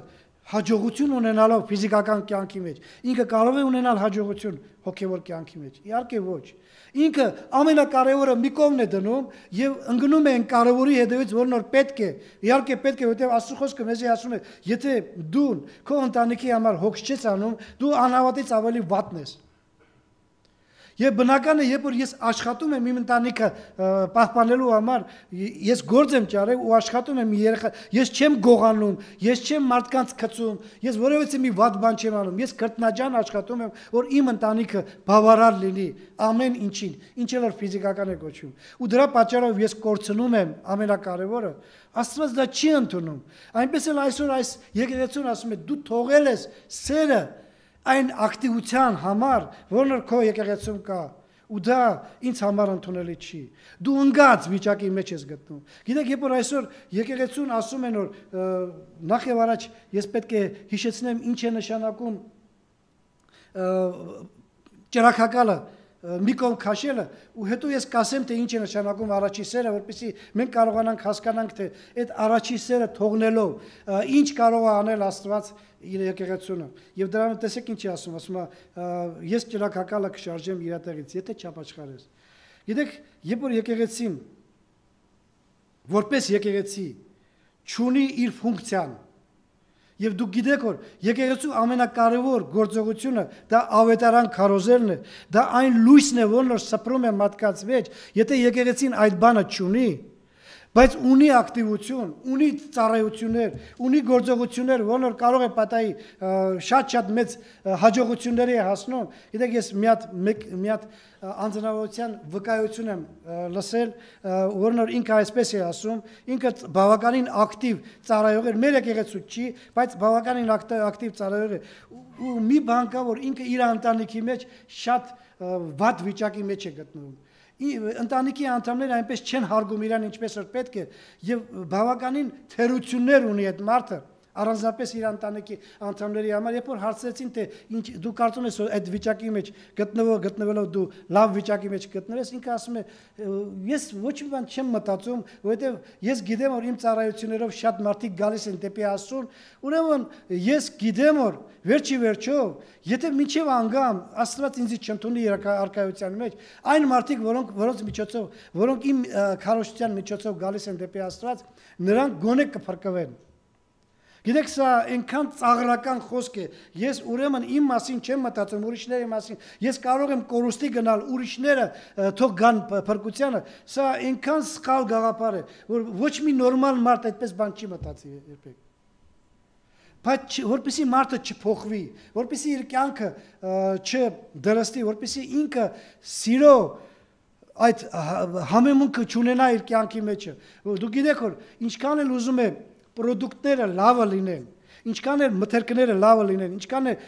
հաջողություն ունենալով ֆիզիկական կյանքի մեջ ինքը կարող է ունենալ հաջողություն հոգևոր կյանքի մեջ իհարկե ոչ ինքը ամենակարևորը մի կողմն է դնում եւ ընկնում է այն կարևորի հետևից որն որ պետք է իհարկե պետք է որտեղ Աստծո խոսքը մեզ ասում է եթե դու քո ընտանիքի համար հոգ չես անում դու անհավատից ավելի վատն ես Եվ բնական է, երբ որ ես աշխատում եմ իմ ընտանիքը պահպանելու համար, ես գործ եմ ճարել ու աշխատում եմ երեխա, ես չեմ գողանում, ես չեմ մարդկանց քծում, ես որևէ մի վատ բան չեմ անում, ես քրտնաջան աշխատում եմ, որ իմ ընտանիքը բավարար լինի ամեն ինչին, ինչ էլ որ ֆիզիկական է կոչվում։ Ու դրա պատճառով ես կորցնում եմ ամենակարևորը, Աստված դա չի ընդունում։ Այնպես էլ այսօր այս եկեղեցուն ասում է, դու թողել ես սերը այն ակտիվության համար, որն որ քո եկեղեցում կա, ու դա ինձ համար ընդունելի չի։ Դու ընկած վիճակի մեջ ես գտնում։ Գիտեք, երբ որ այսօր եկեղեցուն ասում են, որ նախ եւ առաջ ես պետք է հիշեցնեմ ինչ է նշանակում ճրակակալը, մի կողմ քաշելը, ու հետո ես կասեմ, թե ինչ է նշանակում առաջի սերը, որպեսզի մենք կարողանանք հասկանանք, թե այդ առաջի սերը թողնելով ինչ կարող է անել Աստված իր եկեղեցունը։ Եվ դրան տեսեք ինչ է ասում, ասում է, ես ճրակակալը կշարժեմ իր տեղից, եթե չապաշխարես։ Գիտեք, երբ որ եկեղեցին որպես եկեղեցի չունի իր ֆունկցիան, Եվ դուք գիտեք, որ եկեղեցու ամենակարևոր գործողությունը դա ավետարան քարոզելն է, դա այն լույսն է, որն որ սփռում է մարդկանց մեջ, եթե եկեղեցին այդ բանը չունի, բայց ունի ակտիվություն, ունի ծառայություններ, ունի գործողություններ, որն որ կարող է պատահի շատ-շատ մեծ հաջողությունների է հասնում։ Գիտեք, ես մի հատ մի հատ անձնավորության վկայություն եմ լսել, որն որ ինքը այսպես է ասում, ինքը բավականին ակտիվ ծառայող էր, մեր եկեղեցու չի, բայց բավականին ակտիվ ծառայող է։ Ու մի բան կա, որ ինքը իր ընտանիքի մեջ շատ վատ վիճակի մեջ է գտնվում։ Ընտանիքի անդամները այնպես չեն հարգում իրան ինչպես որ պետք է եւ բավականին թերություններ ունի այդ մարդը առանձնապես իր ընտանիքի անդամների համար երբ որ հարցրեցին թե ինչ դու կարծում ես որ այդ վիճակի մեջ գտնվող գտնվելով դու լավ վիճակի մեջ գտնվես ինքը ասում է ես ոչ մի բան չեմ մտածում որովհետեւ ես գիտեմ որ իմ ծառայություններով շատ մարդիկ գալիս են դեպի Աստծուն ուրեմն ես գիտեմ որ վերջի վերջով եթե մինչև անգամ Աստված ինձ չընդունի իր արքայության մեջ այն մարդիկ որոնք որոնց միջոցով որոնք իմ քարոզության միջոցով գալիս են դեպի Աստված նրանք գոնե կփրկվեն Գիտեք, սա այնքան ծաղրական խոսք է, ես ուրեմն իմ մասին չեմ մտածում, ուրիշների մասին, ես կարող եմ կորուստի գնալ, ուրիշները թող գան փրկությանը, սա այնքան սխալ գաղափար է, որ ոչ մի նորմալ մարդ այդպես բան չի մտածի երբեք։ բայց որպեսի մարդը չփոխվի, որպեսի իր կյանքը չդրստի, որպեսի ինքը սիրո այդ համեմունքը չունենա իր կյանքի մեջը։ Դու գիտեք որ ինչքան էլ ուզում է պրոդուկտները լավը լինեն, ինչքան էլ մթերքները լավը լինեն, ինչքան էլ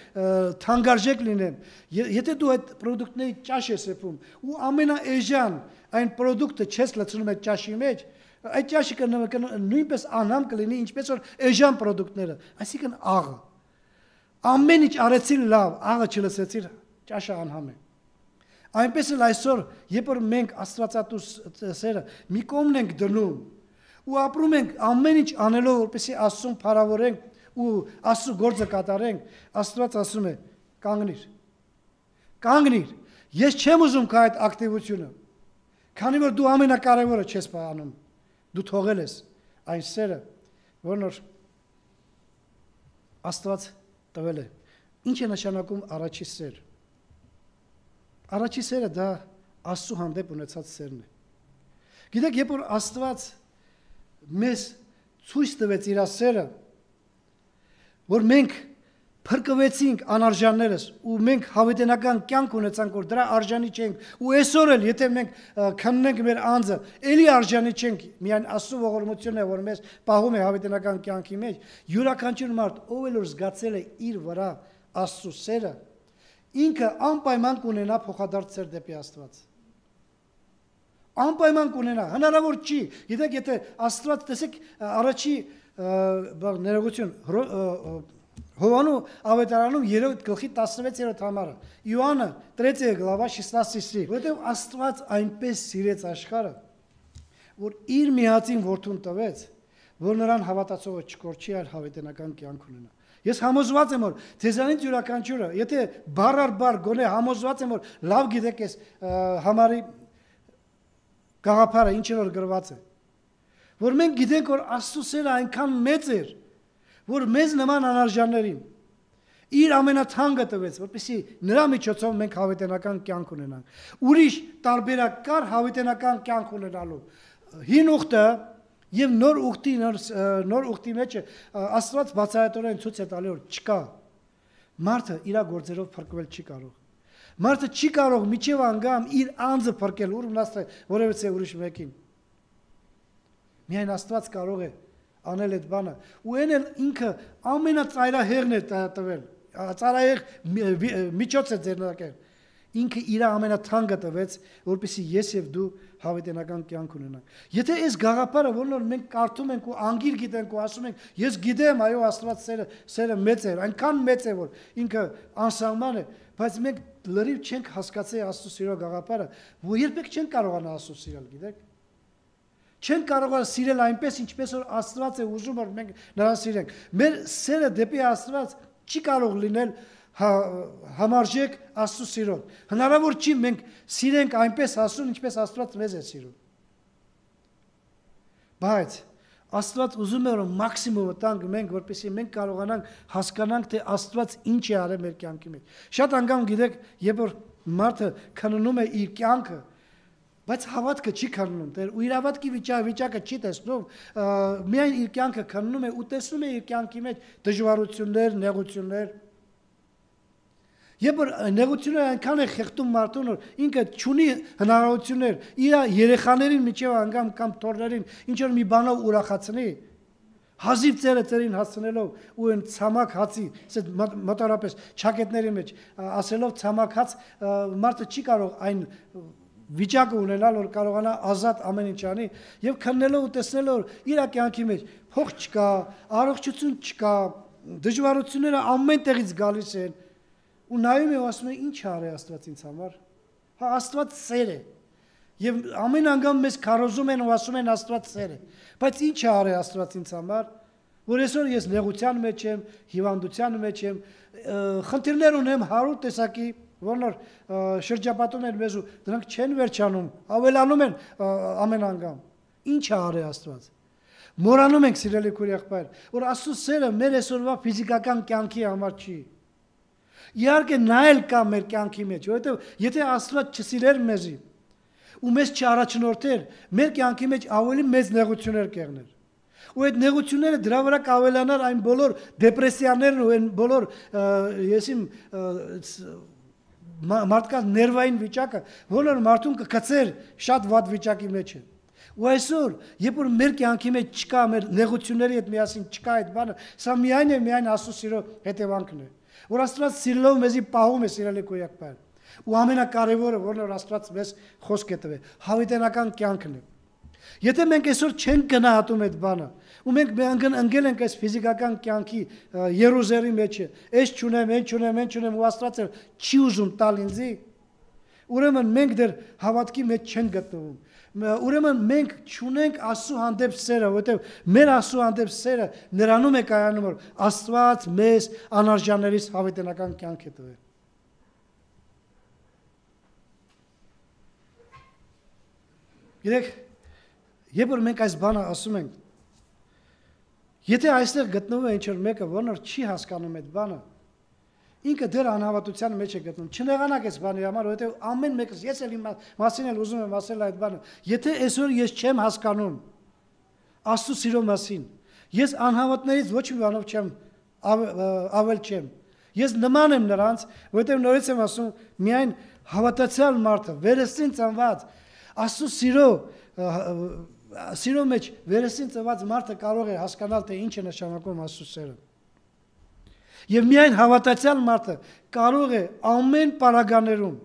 թանկարժեք լինեն, եթե դու այդ պրոդուկտների ճաշ ես սեփում ու ամենաէժան այն պրոդուկտը չես լցնում այդ ճաշի մեջ, այդ ճաշը նույնպես անհամ կլինի, ինչպես որ էժան պրոդուկտները, այսինքն աղը։ Ամեն ինչ արեցիր լավ, աղը չլցեցիր, ճաշը անհամ է։ Այնպես էլ այսօր, երբ որ մենք Աստվածատու սերը մի կողմն ենք դնում ու ապրում ենք ամեն ինչ անելով, որպեսզի Աստծուն փառավորենք ու Աստծո գործը կատարենք, Աստված ասում է՝ կանգնիր։ Կանգնիր։ Ես չեմ ուզում քո այդ ակտիվությունը, քանի որ դու ամենակարևորը չես անում։ Դու թողել ես այն սերը, որն որ Աստված տվել է։ Ինչ է նշանակում առաջի սեր։ Առաջի սերը դա Աստծո հանդեպ ունեցած սերն է։ Գիտեք, երբ որ Աստված մեզ ցույց տվեց իր սերը, որ մենք փրկվեցինք անարժաններս ու մենք հավիտենական կյանք ունեցանք, որ դրա արժանի չենք, ու այսօր էլ եթե մենք քննենք մեր անձը, ելի արժանի չենք, միայն Աստծո ողորմությունն է, որ մեզ պահում է հավիտենական կյանքի մեջ, յուրաքանչյուր մարդ, ով էլ որ զգացել է իր վրա Աստծո սերը, ինքը անպայման կունենա փոխադարձ սեր դեպի Աստված։ Անպայման կունենա, հնարավոր չի։ Գիտեք, եթե Աստված, տեսեք, առաջի ներողություն, Հովանու ավետարանում երրորդ գլխի տասնվեցերորդ համարը, Իոաննը третья глава шестнадцатый стих, որտեղ Աստված այնպես սիրեց աշխարհը, որ իր միածին որդուն տվեց, որ նրան հավատացողը չկորչի, այլ հավիտենական կյանք ունենա։ Ես համոզված եմ, որ ձեզանից յուրաքանչյուրը, եթե բառ առ բառ գոնե համոզված եմ, որ լավ գիտեք ես համարի գաղափարը ինչ որ գրված է, որ մենք գիտենք, որ Աստծո սերը այնքան մեծ էր, որ մեզ նման անարժաններին իր ամենաթանկը տվեց, որպեսզի նրա միջոցով մենք հավիտենական կյանք ունենանք։ Ուրիշ տարբերակ կար հավիտենական կյանք ունենալու։ Հին ուխտը եւ նոր ուխտի նոր ուխտի մեջ Աստված բացահայտորեն ցույց է տալի, որ չկա։ Մարդը իր գործերով փրկվել չի կարող։ Մարդը չի կարող միջև անգամ իր անձը փրկել, ուրեմն ասել որևէ ուրիշ մեկին։ Միայն Աստված կարող է անել այդ բանը, ու այն էլ ինքը ամենածայրահեղն է տվել, ծայրահեղ միջոց է ձեռնարկել, ինքը իր ամենաթանկը տվեց, որպեսզի ես եւ դու հավիտենական կյանք ունենանք։ Եթե այս գաղափարը, որն որ մենք կարդում ենք ու անգիր գիտենք ու ասում ենք, ես գիտեմ, այո, Աստված սերը, սերը մեծ է, այնքան մեծ է, որ ինքը անսահման է, բայց մենք լրիվ չենք հասկացել Աստծո սիրո գաղափարը, որ երբեք չենք կարողանա Աստծո սիրել, գիտեք։ Չեն կարող սիրել այնպես, ինչպես որ Աստված է ուզում, որ մենք նրան սիրենք։ Մեր սերը դեպի Աստված չի կարող լինել համարժեք Աստծո սիրուն։ Հնարավոր չի մենք սիրենք այնպես Աստծուն, ինչպես Աստված մեզ է սիրում։ Բայց Աստված ուզում է, որ մաքսիմումը տանք մենք, որպեսզի մենք կարողանանք հասկանանք, թե Աստված ինչ է արել մեր կյանքի մեջ։ Շատ անգամ գիտեք, երբ որ մարդը քննում է իր կյանքը, բայց հավատքը չի քննում, ու իր հավատքի վիճակը չի տեսնում, միայն իր կյանքը քննում է ու տեսնում է իր կյանքի մեջ դժվարություններ, նեղություններ։ Երբ որ նեղությունները այնքան է խեղդում մարդուն, որ ինքը չունի հնարավորություններ իր երեխաներին միջև անգամ կամ թոռներին ինչ որ մի բանով ուրախացնի, հազիվ ծերը ծերին հասցնելով ու այն ցամաք հացի, մոտորապես ճակետների մեջ ասելով ցամաք հաց, մարդը չի կարող այն վիճակը ունենալ, որ կարողանա ազատ ամեն ինչ անի եւ քննելով ու տեսնելով իր կյանքի մեջ փող չկա, առողջություն չկա, դժվարությունները ամեն տեղից գալիս են ու նայում է ու ասում է ինչ արի Աստված ինձ համար։ Հա Աստված սեր է եւ ամեն անգամ մեզ քարոզում են ու ասում են Աստված սեր է, բայց ինչ արի Աստված ինձ համար, որ այսօր ես նեղության մեջ եմ, հիվանդության մեջ եմ, խնդիրներ ունեմ հարյուր տեսակի, որոնք շրջապատում են մեզ ու դրանք չեն վերջանում, ավելանում են ամեն անգամ։ Ինչ է արել Աստված։ Մոռանում ենք սիրելի քույր եղբայր, որ Աստծո սերը մեր այսօրվա ֆիզիկական կյանքի համար չի։ Իհարկե նա էլ կա մեր կյանքի մեջ, որովհետև եթե Աստված չսիրեր մեզի ու մեզ չառաջնորդեր, մեր կյանքի մեջ ավելի մեծ նեղություններ կեղներ։ Ու այդ նեղությունները դրա վրա կավելանար այն բոլոր դեպրեսիաներն ու այն բոլոր եսիմ մարդկանց ներվային վիճակը, որը մարդուն կգցեր շատ վատ վիճակի մեջ է։ Ու այսօր, երբ որ մեր կյանքի մեջ չկա, մեր նեղությունների հետ միասին չկա այդ բանը, սա միայն է միայն Աստծո սիրո հետևանքն է։ Որ Աստված սիրելով մեզի պահում է սիրելի քույրակներ։ Ու ամենակարևորը, որն որ Աստված մեզ խոսք է տվել, հավիտենական կյանքն է։ Եթե մենք այսօր չենք գնահատում այդ բանը, ու մենք ընկել ենք այս ֆիզիկական կյանքի երուզերի մեջ, այս չունեմ, այն չունեմ, այն չունեմ, ու Աստված չի ուզում տալ ինձի, ուրեմն մենք դեռ հավատքի մեջ չենք գտնվում։ Ուրեմն մենք չունենք Աստծո հանդեպ սերը, որովհետև մեր Աստծո հանդեպ սերը նրանում է կայանում, որ Աստված մեզ անարժաններից հավիտենական կյանք է տվել։ Գիտեք, երբ որ մենք այս բանը ասում ենք, եթե այստեղ գտնվում է ինչ-որ մեկը, որն չի հասկանում այդ բանը, ինքը դեռ անհավատության մեջ է գտնում։ Չնեղանաք այս բանի համար, որովհետև ամեն մեկս ես էլ իմ մասին էլ ուզում եմ ասել այդ բանը։ Եթե այսօր ես չեմ հասկանում Աստծո սիրո մասին, ես անհավատներից ոչ մի բանով չեմ ավել չեմ։ Ես նման եմ նրանց, որովհետև նորից եմ ասում, միայն հավատացյալ մարդը, վերստին ծնված, Աստծո սիրո սիրո մեջ վերստին ծնված մարդը կարող է հասկանալ, թե ինչ է նշանակում Աստծո սերը։ Եվ միայն հավատացյալ մարդը կարող է ամեն պարագաներում,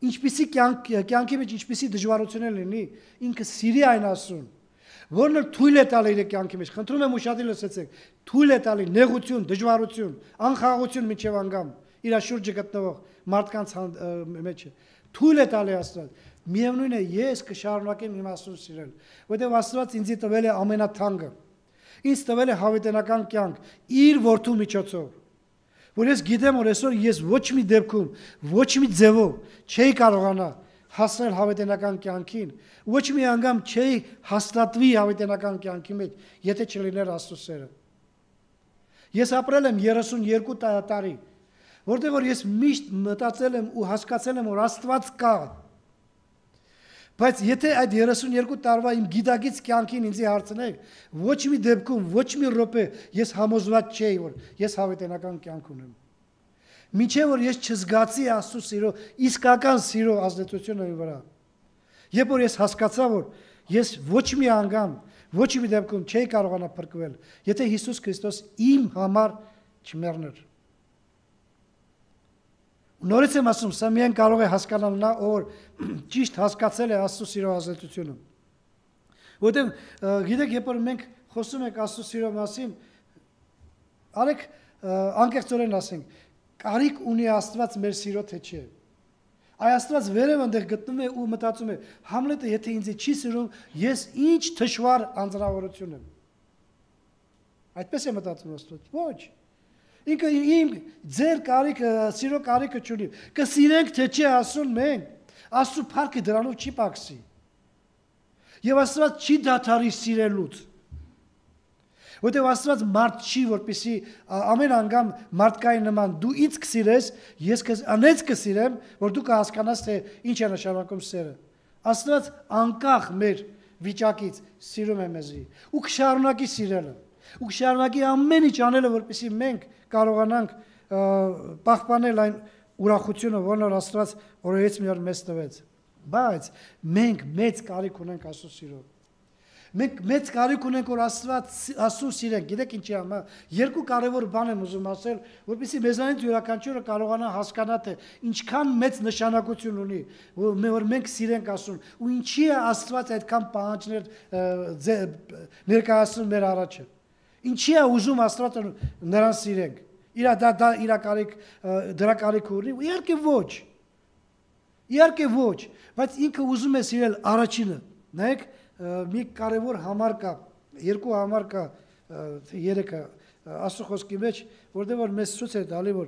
ինչպիսի կյանքի մեջ ինչպիսի դժվարություններ լինի, ինքը սիրի այն Աստծուն, որն թույլ է տալի իր կյանքի մեջ, խնդրում եմ ուշադիր լսեցեք, թույլ է տալի նեղություն, դժվարություն, անխաղաղություն մինչև անգամ իր շուրջը գտնվող մարդկանց մեջ է, թույլ է տալի Աստված։ Միևնույն է, ես կշարունակեմ իմ Աստծուն սիրել, որովհետև Աստված ինձ տվել է ամենաթանկը։ Ինձ տվել է հավիտենական կյանք իր որդու միջոցով, որ ես գիտեմ, որ այսօր ես ոչ մի դեպքում, ոչ մի ձևով չէի կարողանա հասնել հավիտենական կյանքին, ոչ մի անգամ չէի հաստատվի հավիտենական կյանքի մեջ, եթե չլիներ Աստծո սերը։ Ես ապրել եմ երեսունյոթ տարի, որտեղ որ ես միշտ մտածել եմ ու հասկացել եմ, որ Աստված կա։ Բայց եթե այդ երեսունյոթ տարվա իմ գիտակից կյանքին ինձ հարցնեք, ոչ մի դեպքում, ոչ մի րոպե ես համոզված չէի, որ ես հավիտենական կյանք ունեմ։ Մինչև որ ես չզգացի Աստծո սիրո, իսկական սիրո ազդեցությունը իր վրա։ Երբ որ ես հասկացա, որ ես ոչ մի անգամ, ոչ մի դեպքում չէի կարողանա փրկվել, եթե Հիսուս Քրիստոս իմ համար չմեռներ։ Նորից եմ ասում, սա միայն կարող է հասկանալ նա, ով ճիշտ հասկացել է Աստծո սիրո ազդեցությունը։ Որտեղ գիտեք, երբ որ մենք խոսում ենք Աստծո սիրո մասին, արեք անկեղծորեն ասենք, կարիք ունի Աստված մեր սիրո թե չէ։ Այ Աստված վերև այնտեղ գտնում է ու մտածում է, Համլետը եթե ինձ չի սիրում, ես ինչ թշվառ անձնավորություն եմ։ Այդպես է մտածում Աստված։ Ոչ։ Ինքը իմ ձեր կարիքը, սիրո կարիքը չունի։ Կսիրենք թե չէ ասում մենք, Աստծո փառքը դրանով չի պակսի։ Եվ Աստված չի դադարի սիրելուց։ Որտեղ Աստված մարդ չի, որպեսզի ամեն անգամ մարդկային նման դու ինձ կսիրես, ես քեզ անեց կսիրեմ, որ դու կհասկանաս, թե ինչ է նշանակում սերը։ Աստված անկախ մեր վիճակից սիրում է մեզի ու կշարունակի սիրելը։ Ու կշարունակի ամեն ինչ անելը, որպեսզի մենք կարողանանք պահպանել այն ուրախությունը, որն որ Աստված օրերից մի օր մեզ տվեց։ Բայց մենք մեծ կարիք ունենք Աստծո սիրո։ Մենք մեծ կարիք ունենք, որ Աստված Աստծուն սիրենք։ Գիտեք ինչի համար, երկու կարևոր բան եմ ուզում ասել, որպեսզի մեզանից յուրաքանչյուրը կարողանա հասկանալ, թե ինչքան մեծ նշանակություն ունի, որ մենք սիրենք Աստծուն, ու ինչի է Աստված այդքան պահանջներ ներկայացնում մեր առաջը։ Ինչի է ուզում Աստվածը նրան սիրենք։ Իրա դա դա իրա կարիք դրա կարիք ունի, իհարկե ոչ։ Իհարկե ոչ, բայց ինքը ուզում է սիրել առաջինը։ Նայեք, մի կարևոր համար կա, երկու համար կա, երեքը Աստծո խոսքի մեջ, որտեղ որ մեզ ցույց է տալի, որ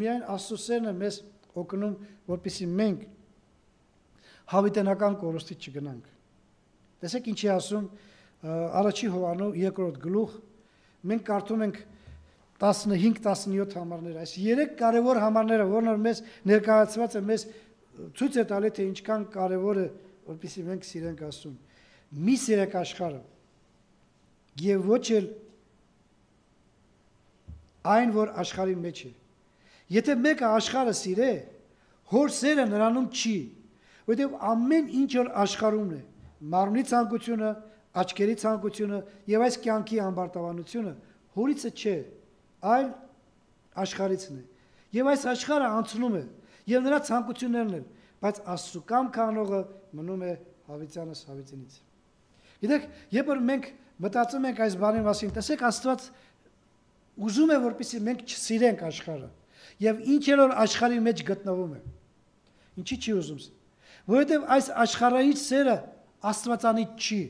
միայն Աստծո սերն է մեզ օգնում, որպեսզի մենք հավիտենական կորստից չգնանք։ Տեսեք ինչի ասում Առաջի Հովհաննես երկրորդ գլուխ, մենք կարդում ենք տասնհինգ տասնյոթ համարներ, այս երեք կարևոր համարները, որոնք մեզ ներկայացված է, մեզ ցույց է տալի, թե ինչքան կարևոր է, որպեսզի մենք սիրենք Աստծուն։ Մի սիրեք աշխարհը, եւ ոչ էլ այն, որ աշխարհի մեջ է։ Եթե մեկը աշխարհը սիրե, հոր սերը նրանում չի, որովհետեւ ամեն ինչ որ աշխարհումն է, մարմնի ցանկությունը, աչքերի ցանկությունը եւ այս կյանքի ամբարտավանությունը հորիցը չէ, այլ աշխարհիցն է։ Եվ այս աշխարհը անցնում է, եւ նրա ցանկություններն են, բայց Աստծո կամքը անողը մնում է հավիտյանս հավիտենից։ Գիտեք, երբ որ մենք մտածում ենք այս բանի մասին, տեսեք Աստված ուզում է, որպեսզի մենք չսիրենք աշխարհը, եւ ինչ էլ որ աշխարհի մեջ գտնվում է։ Ինչի՞ չի ուզում։ Որովհետեւ այս աշխարհային սերը Աստվածանից չի։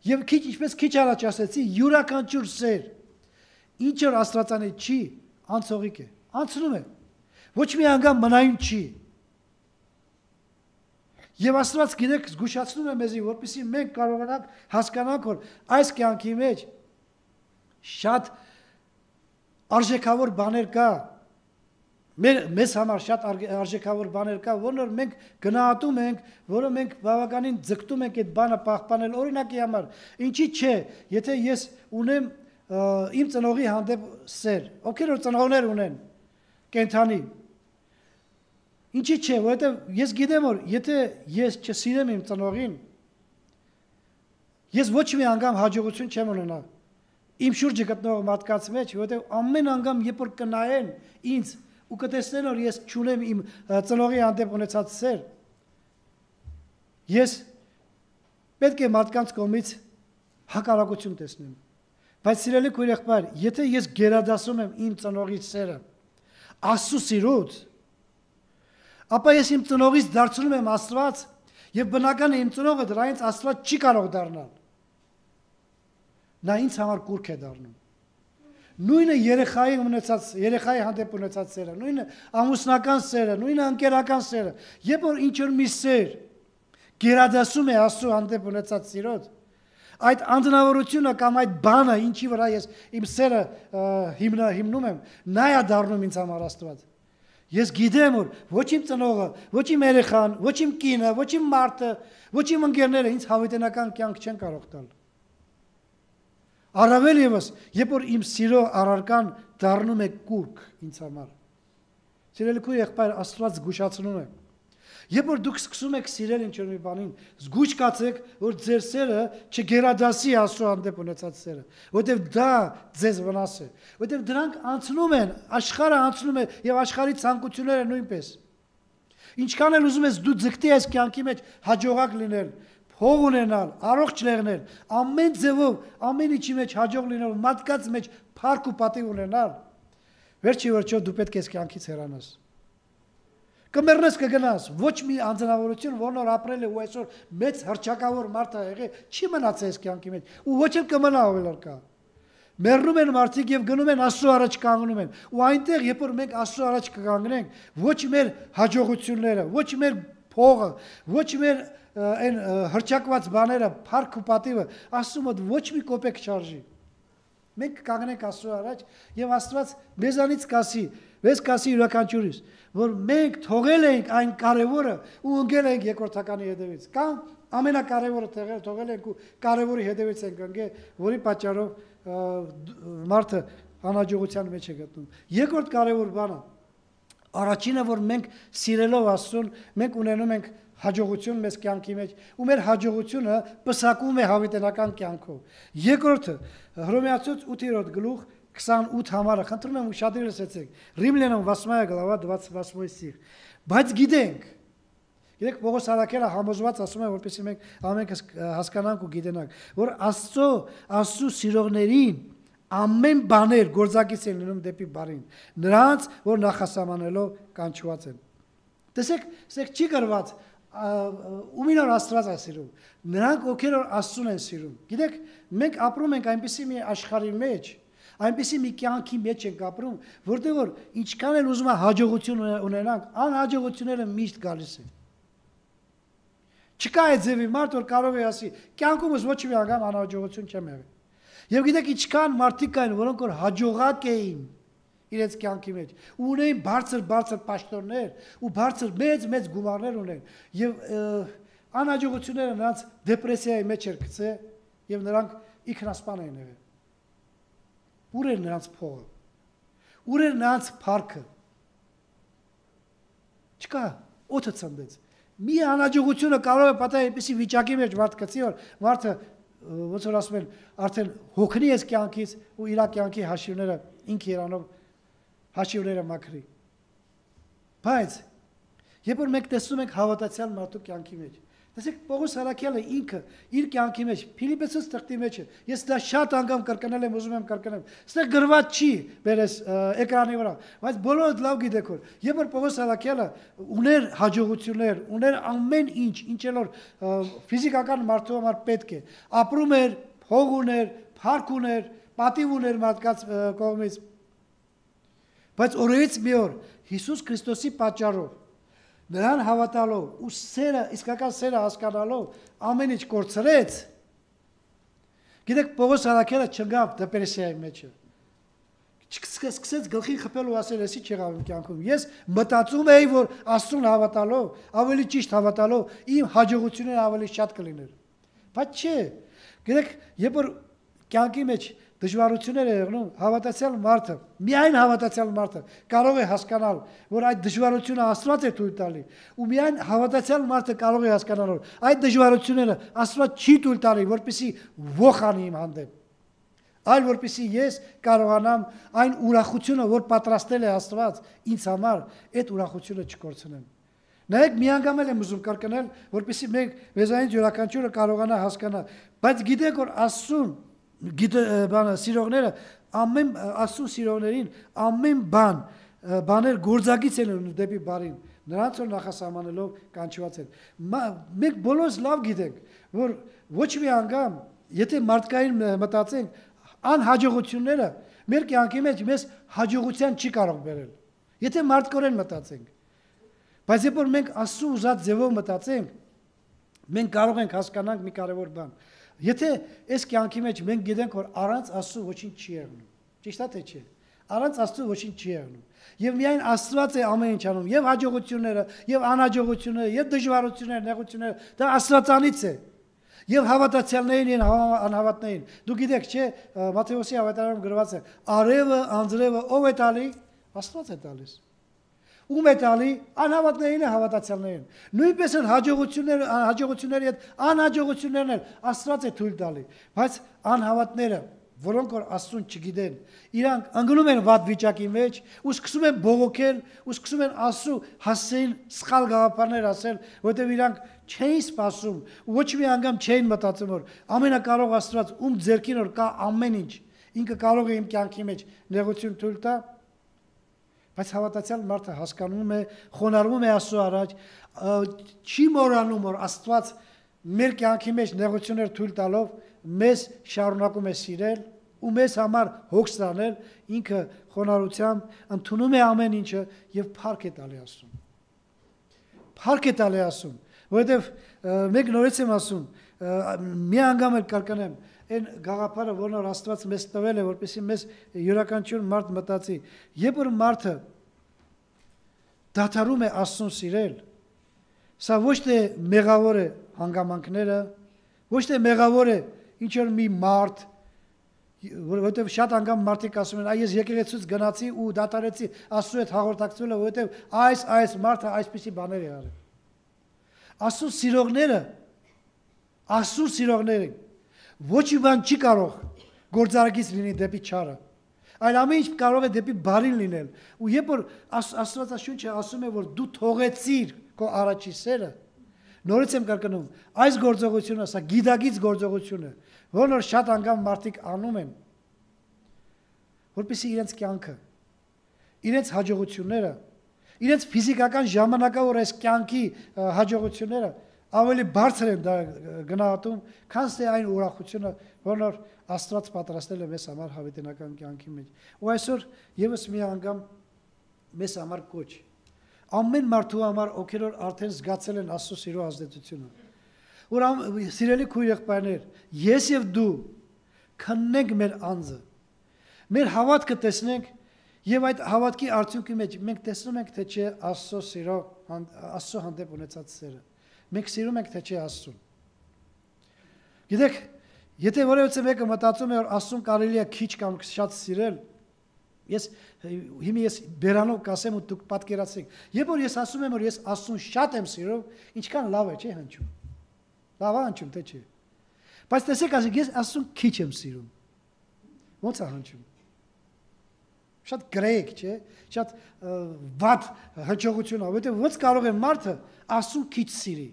Եվ քիչ ինչպես քիչ առաջ ասեցի, յուրաքանչյուր սեր, ինչ որ Աստվածանից չի, անցողիկ է, անցնում է։ Ոչ մի անգամ մնայուն չի։ Եվ Աստված գիտեք զգուշացնում է մեզի, որպեսզի մենք կարողանանք հասկանանք, որ այս կյանքի մեջ շատ արժեքավոր բաներ կա։ Մեր մեզ համար շատ արժեքավոր բաներ կա, որոնք մենք գնահատում ենք, որը մենք բավականին ձգտում ենք այդ բանը պահպանել։ Օրինակի համար, ինչի՞ չէ, եթե ես ունեմ իմ ծնողի հանդեպ սեր, ովքեր որ ծնողներ ունեն, կենթանի։ Ինչի՞ չէ, որովհետև ես գիտեմ, որ եթե ես չսիրեմ իմ ծնողին, ես ոչ մի անգամ հաջողություն չեմ ունենա իմ շուրջը գտնող մարդկանց մեջ, որովհետև ամեն անգամ երբ որ կնայեն ինձ ու կտեսնեն, որ ես չունեմ իմ ծնողի հանդեպ ունեցած սեր, ես պետք է մարդկանց կողմից հակառակություն տեսնեմ։ Բայց սիրելի քույր եղբայր, եթե ես գերադասում եմ իմ ծնողի սերը Աստծո սիրուց, ապա ես իմ ծնողից դարձնում եմ Աստված, եւ բնական է իմ ծնողը դրանից Աստված չի կարող դառնալ։ Նա ինձ համար կուրք է դառնում։ Նույնը երեխայի ունեցած, երեխայի հանդեպ ունեցած սերը, նույնը ամուսնական սերը, նույնը ընկերական սերը, երբ որ ինչ որ մի սեր գերադասում է Աստծո հանդեպ ունեցած սիրոց, այդ անդնավորությունը կամ այդ բանը, ինչի վրա ես իմ սերը հիմնա հիմնում եմ, նա է դառնում ինձ համար Աստված։ Ես գիտեմ, որ ոչ իմ ծնողը, ոչ իմ երեխան, ոչ իմ կինը, ոչ իմ մարդը, ոչ իմ ընկերները ինձ հավիտենական կյանք չեն կարող տալ։ Առավել ևս, երբ որ իմ սիրո առարկան դառնում է կուրք ինձ համար։ Սիրելի քույր եղբայր, Աստված զգուշացնում է։ Երբ որ դուք սկսում եք սիրել ինչ-որ մի բանին, զգույշ կացեք, որ ձեր սերը չգերադասի Աստծո հանդեպ ունեցած սերը, որովհետև դա ձեզ վնաս է, որովհետև դրանք անցնում են, աշխարհը անցնում է եւ աշխարհի ցանկությունները նույնպես։ Ինչքան էլ ուզում ես դու ձգտի այս կյանքի մեջ հաջողակ լինել, փող ունենալ, առողջ եղնել, ամեն ձևով, ամեն ինչի մեջ հաջող լինել, մարդկանց մեջ փառք ու պատիվ ունենալ, վերջի վերջո դու պետք է այս կյանքից հեռանաս։ Կմեռնես կգնաս, ոչ մի անձնավորություն, որն որ ապրել է ու այսօր մեծ հռչակավոր մարդ է եղել, չի մնացել այս կյանքի մեջ, ու ոչ էլ կմնա ավելարկա։ Մեռնում են մարդիկ եւ գնում են Աստծո առաջ կանգնում են, ու այնտեղ երբ որ մենք Աստծո առաջ կկանգնենք, ոչ մեր հաջողությունները, ոչ մեր փողը, ոչ մեր այն հռչակված բաները, փառք ու պատիվը Աստծո մոտ ոչ մի կոպեկ չարժի։ Մենք կանգնենք Աստծո առաջ եւ Աստված մեզանից կասի, մեզ կասի յուրաքանչյուրիս, որ մենք թողել ենք այն կարևորը ու ընկել ենք երկրորդականի հետևից, կամ ամենակարևորը թողել, թողել ենք ու կարևորի հետևից ենք ընկել, որի պատճառով մարդը անհաջողության մեջ է գտնում։ Երկրորդ կարևոր բանը, առաջինը, որ մենք սիրելով Աստծուն, մենք ունենում ենք հաջողություն մեզ կյանքի մեջ, ու մեր հաջողությունը պսակում է հավիտենական կյանքով։ Երկրորդը, Հռոմեացուց ութերորդ գլուխ քսանութ համարը, խնդրում եմ ուշադրել լսեցեք, Ռիմլյանам восьмая глава двадцать восьмой стих։ Բայց գիտենք, գիտեք Պողոս Արաքելը համոզված ասում է, որպեսզի մենք ամենքս հասկանանք ու գիտենանք, որ Աստծո, Աստծո սիրողներին ամեն բաներ գործակից են լինում դեպի բարին, նրանց, որ նախասահմանելով կանչված են։ Տեսեք, սեք չի գրված ումին որ Աստված է սիրում, նրանք ովքեր որ Աստծուն են սիրում։ Գիտեք, մենք ապրում ենք այնպիսի մի աշխարհի մեջ, այնպիսի մի կյանքի մեջ ենք ապրում, որտեղ որ ինչքան էլ ուզում է հաջողություն ունենանք, անհաջողությունները միշտ գալիս են։ Չկա այդ ձևի մարդ, որ կարող է ասի, կյանքումս ոչ մի անգամ անհաջողություն չեմ եղել։ Եվ գիտեք, ինչքան մարդիկ կային, որոնք որ հաջողակ էին իրենց կյանքի մեջ, ու ունեին բարձր-բարձր պաշտոններ, ու բարձր մեծ-մեծ գումարներ ունեն, եւ անհաջողությունները նրանց դեպրեսիայի մեջ էր գցել, եւ նրանք ինքնասպան են եղել։ Ուր էր նրանց փողը։ Ուր էր նրանց փառքը։ Չկա, օդը ցնդեց։ Մի անհաջողությունը կարող է պատահել այնպիսի վիճակի մեջ մարդ գցի, որ մարդը ոնց որ ասում են, արդեն հոգնի էս կյանքից ու իր կյանքի հաշիվները ինքը իրանով հաշիվները մաքրի։ Բայց երբ որ մենք տեսնում ենք հավատացյալ մարդու կյանքի մեջ, տեսեք Պողոս Արաքյալը ինքը իր կյանքի մեջ Ֆիլիպպեցուց թղթի մեջ է։ Ես դա շատ անգամ կրկնել եմ, ուզում եմ կրկնել։ Ստեղ գրված չի բերես էկրանի վրա, բայց բոլորը լավ գիտեք որ երբ որ Պողոս Արաքյալը ուներ հաջողություններ, ուներ ամեն ինչ, ինչ որ ֆիզիկական մարդու համար պետք է, ապրում էր, փող ուներ, փառք ուներ, պատիվ ուներ մարդկանց կողմից։ Բայց օրերից մի օր Հիսուս Քրիստոսի պատճառով նրան հավատալով ու սերը, իսկական սերը հասկանալով ամեն ինչ կորցրեց։ Գիտեք, Պողոս Արաքյալը չգավ դեպրեսիայի մեջը։ Սկսեց գլխին խփել ու ասել, էսի չեղավ իմ կյանքում։ Ես մտածում էի, որ Աստծուն հավատալով, ավելի ճիշտ հավատալով, իմ հաջողությունները ավելի շատ կլիներ։ Բայց չէ։ Գիտեք, երբ որ կյանքի մեջ դժվարություններ է եղնում, հավատացյալ մարդը, միայն հավատացյալ մարդը կարող է հասկանալ, որ այդ դժվարությունը Աստված է թույլ տալի, ու միայն հավատացյալ մարդը կարող է հասկանալ, որ այդ դժվարությունները Աստված չի թույլ տալի, որպեսզի ոխ անի իմ հանդեպ, այլ որպեսզի ես կարողանամ այն ուրախությունը, որ պատրաստել է Աստված ինձ համար, այդ ուրախությունը չկորցնեմ։ Նայեք, մի անգամ եմ ուզում կրկնել, որպեսզի մենք մեզանից յուրաքանչյուրը կարողանա հասկանալ, բայց գիտեք, որ Աստծուն գիտե բանը սիրողները ամեն Աստծո սիրողներին ամեն բան բաներ գործակից են ունում դեպի բարին նրանց որ նախասահմանելով կանչված են մենք բոլորս լավ գիտենք որ ոչ մի անգամ եթե մարդկային մտածենք անհաջողությունները մեր կյանքի մեջ մեզ հաջողության չի կարող բերել եթե մարդկորեն մտածենք բայց երբ որ մենք Աստծո ուզած ձևով մտածենք մենք կարող ենք հասկանալ մի կարևոր բան Եթե այս կյանքի մեջ մենք գիտենք, որ առանց Աստծո ոչինչ չի եղնում, ճիշտ է թե չէ, առանց Աստծո ոչինչ չի եղնում, եւ միայն Աստված է ամեն ինչ անում, եւ հաջողությունները, եւ անհաջողությունները, եւ դժվարությունները, նեղությունները, դա Աստվածանից է, եւ հավատացյալներին եւ անհավատներին։ Դու գիտեք, չէ, Մատթեոսի ավետարանում գրված է. արևը, անձրևը ով է տալի? Աստված է տալիս։ Ում է տալի անհավատներին է հավատացյալներին։ Նույնպես էլ հաջողությունները, հաջողությունների հետ անհաջողություններն էլ Աստված է թույլ տալի, բայց անհավատները, որոնք որ Աստծուն չգիտեն, իրանք ընկնում են վատ վիճակի մեջ ու սկսում են բողոքել ու սկսում են Աստծու հասցեին սխալ գաղափարներ ասել, որովհետև իրանք չէին սպասում ու ոչ մի անգամ չէին մտածում, որ ամենակարող Աստված ում ձեռքին որ կա ամեն ինչ, ինքը կարող է իմ կյանքի մեջ նեղություն թույլ տա Բայց հավատացյալ մարդը հասկանում է, խոնարհվում է Աստծո առաջ, չի մոռանում, որ Աստված մեր կյանքի մեջ նեղություններ թույլ տալով մեզ շարունակում է սիրել ու մեզ համար հոգ ստանել, ինքը խոնարհությամբ ընդունում է ամեն ինչը եւ փառք է տալի Աստծուն։ Փառք է տալի Աստծուն, որովհետեւ մեկ նորից եմ ասում, մի անգամ էլ կրկնեմ, այն գաղափարը, որն որ Աստված մեզ տվել է, որպեսզի մեզ յուրաքանչյուր մարդ մտածի, երբ որ մարդը դադարում է Աստծուն սիրել, սա ոչ թե մեղավոր է հանգամանքները, ոչ թե մեղավոր է ինչ որ մի մարդ, որովհետև շատ անգամ մարդիկ ասում են, այ ես եկեղեցուց գնացի ու դադարեցի Աստծու հետ հաղորդակցվելը, որովհետև այս այս մարդը այսպիսի բաներ է արել։ Աստծու սիրողները, Աստծու սիրողները Ոչ մի բան չի կարող գործարակից լինի դեպի չարը, այլ ամեն ինչ կարող է դեպի բարին լինել։ Ու երբ որ Աստվածաշունչը ասում է, որ դու թողեցիր քո առաջի սերը, նորից եմ կրկնում, այս գործողությունը, սա գիտակից գործողություն է, որն որ շատ անգամ մարդիկ անում են, որպեսզի իրենց կյանքը, իրենց հաջողությունները, իրենց ֆիզիկական ժամանակավոր այս կյանքի հաջողությունները ավելի բարձր են դա գնահատում, քան թե այն ուրախությունը, որն որ Աստված պատրաստել է մեզ համար հավիտենական կյանքի մեջ։ Ու այսօր եւս մի անգամ մեզ համար կոչ։ Ամեն մարդու համար, ովքեր որ արդեն զգացել են Աստծո սիրո ազդեցությունը։ Որ սիրելի քույր եղբայրներ, ես եւ դու քննենք մեր անձը։ Մեր հավատքը տեսնենք եւ այդ հավատքի արդյունքի մեջ մենք տեսնում ենք, թե չէ Աստծո սիրո, Աստծո հանդեպ ունեցած սերը։ Մենք սիրում ենք թե չէ Աստծուն։ Գիտեք, Եթե որևէ մեկը մտածում է, որ Աստծուն կարելի է քիչ կամ շատ սիրել, ես հիմա ես բերանով կասեմ ու դուք պատկերացրեք։ Երբ որ ես ասում եմ, որ ես Աստծուն շատ եմ սիրում, ինչքան լավ է, չէ՞ հնչում։ Լավ է հնչում, թե չէ։ Բայց տեսեք, ասեք, ես Աստծուն քիչ եմ սիրում։ Ո՞նց է հնչում։ Շատ գրեգ, չէ՞, շատ վատ հնչողություն է, որովհետև ո՞նց կարող է մարդը Աստծուն քիչ սիրի։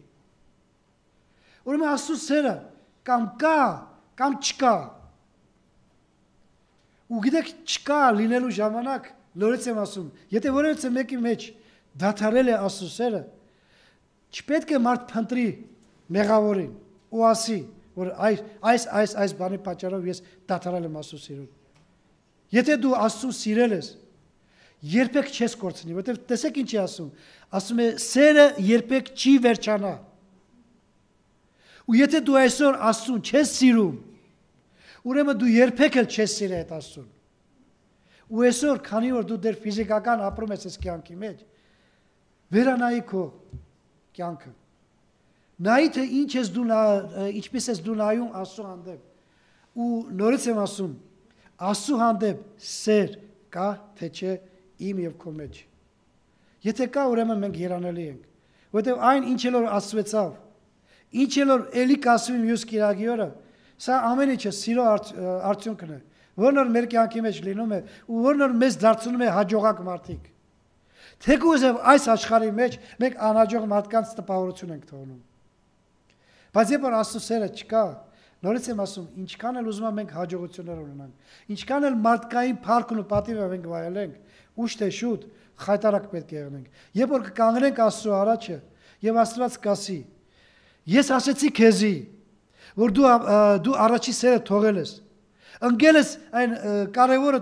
Ուրեմն Աստծու սերը կամ կա, կամ չկա։ Ու գիտեք, չկա լինելու ժամանակ, նորից եմ ասում, եթե որևէ մեկի մեջ դադարել է Աստծու սերը, չպետք է մարդ փնտրի մեղավորին ու ասի, որ այս այս այս այս բանի պատճառով ես դադարել եմ Աստծու սիրուն։ Եթե դու Աստծուն սիրել ես, երբեք չես կորցնի, որովհետև տեսեք ինչ է ասում, ասում է սերը երբեք չի վերջանա։ Ու եթե դու այսօր Աստծուն չես սիրում, ուրեմն դու երբեք էլ չես սիրել այդ Աստծուն։ Ու այսօր, քանի որ դու դեռ ֆիզիկական ապրում ես այս կյանքի մեջ, վերանայի քո կյանքը։ Նայի թե ինչ ես դու ինչպես ես դու նայում Աստծու հանդեպ։ Ու նորից եմ ասում, Աստծու հանդեպ սեր կա, թե չէ իմ եւ քո մեջ։ Եթե կա, ուրեմն մենք երանելի ենք, որովհետեւ այն ինչ էլ որ աստծվեցավ, ինչ էլ որ էլի կասվի մյուս կիրակի օրը, սա ամեն ինչը սիրո արդյունքն է, որն որ մեր կյանքի մեջ լինում է ու որն որ մեզ դարձնում է հաջողակ մարդիկ։ Թեկուզև այս աշխարհի մեջ մենք անհաջող մարդկանց տպավորություն ենք թողնում։ Բայց երբ որ Աստծո սերը չկա, նորից եմ ասում, ինչքան էլ ուզում ենք հաջողություններ ունենանք, ինչքան էլ մարդկային փառքն ու պատիվը մենք վայելենք, ուշ թե շուտ խայտարակ պետք է եղնենք։ Երբ որ կկանգնենք Աստծո առաջը եւ Աստված կասի. Ես ասեցի քեզի, որ դու դու առաջի սերը թողել ես։ Ընկել ես այն կարևորը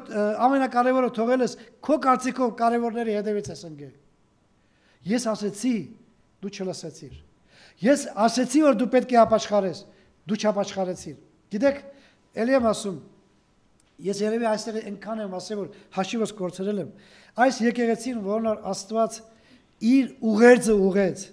ամենակարևորը թողել ես, քո կարծիքով կարևորների հետևից ես ընկել։ Ես ասեցի, դու չլսեցիր։ Ես ասեցի, որ դու պետք է ապաշխարես, դու չապաշխարեցիր։ Գիտեք, ելի եմ ասում, ես երևի այստեղ այնքան եմ ասել, որ հաշիվս կորցրել եմ։ Այս եկեղեցին, որն որ Աստված իր ուղերձը ուղեց,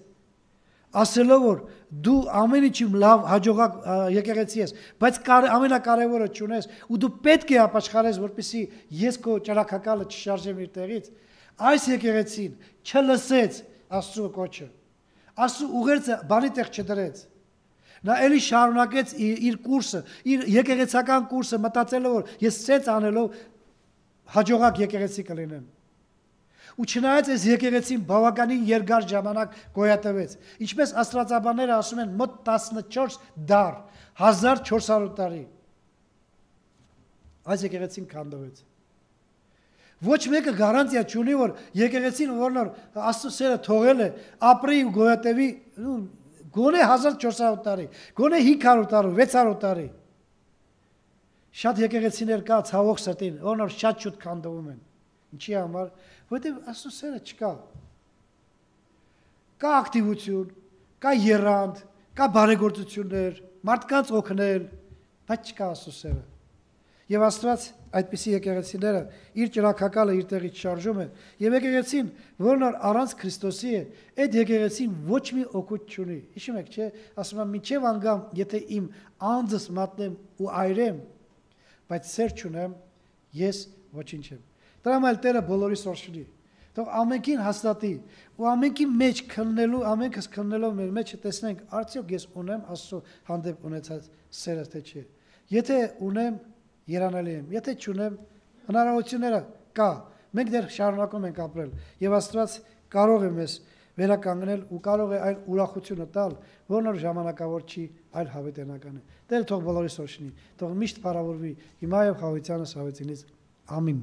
ասելով որ դու ամեն ինչում լավ հաջողակ եկեղեցի ես, բայց ամենակարևորը չունես ու դու պետք է ապաշխարես, որպեսզի ես քո ճրակակալը չշարժեմ իր տեղից։ Այս եկեղեցին չլսեց Աստծո կոչը։ Աստծո ուղերձը բանի տեղ չդրեց։ Նա էլի շարունակեց իր կուրսը, իր եկեղեցական կուրսը, մտածելով որ ես սենց անելով հաջողակ եկեղեցի կլինեմ։ Ու չնայած այս եկեղեցին բավականին երկար ժամանակ գոյատևեց, ինչպես աստվածաբանները ասում են, մոտ տասնչորս դար, հազար չորս հարյուր տարի։ Այս եկեղեցին քանդվեց։ Ոչ մեկը գարանտիա չունի, որ եկեղեցին, որն որ Աստծո սերը թողել է, ապրի ու գոյատևի, գոնե հազար չորս հարյուր տարի, գոնե հինգ հարյուր տարի, վեց հարյուր տարի։ Շատ եկեղեցիներ կա ցավոք սրտին, որոնք որ շատ շուտ քանդվում են։ Ինչի համար, որովհետև Աստծո սերը չկա։ Կա ակտիվություն, կա եռանդ, կա բարեգործություններ, մարդկանց օգնել, բայց չկա Աստծո սերը։ Եվ Աստված այդպիսի եկեղեցիները իր ճրակակալը իր տեղից շարժում է, եւ եկեղեցին, որն որ առանց Քրիստոսի է, այդ եկեղեցին ոչ մի օգուտ չունի։ Հիշում եք, չէ՞, ասում եմ, մինչև անգամ, եթե իմ անձս մատնեմ ու այրեմ, բայց սեր չունեմ, ես ոչինչ եմ։ Դրա համար Տերը բոլորի սորշնի։ Թող ամենքին հաստատի ու ամենքի մեջ քննելու, ամենքս քննելով մեր մեջը տեսնենք, արդյոք ես ունեմ Աստծո հանդեպ ունեցած սերը թե չէ։ Եթե ունեմ, երանելի եմ, եթե չունեմ, հնարավորությունները կա։ Մենք դեռ շարունակում ենք ապրել եւ Աստված կարող է մեզ վերականգնել ու կարող է այն ուրախությունը տալ, որն որ ժամանակավոր չի, այլ հավիտենական է։ Տերը թող բոլորի սորշնի, թող միշտ փառավորվի հիմա եւ հավիտյանս հավիտինից։ Ամին։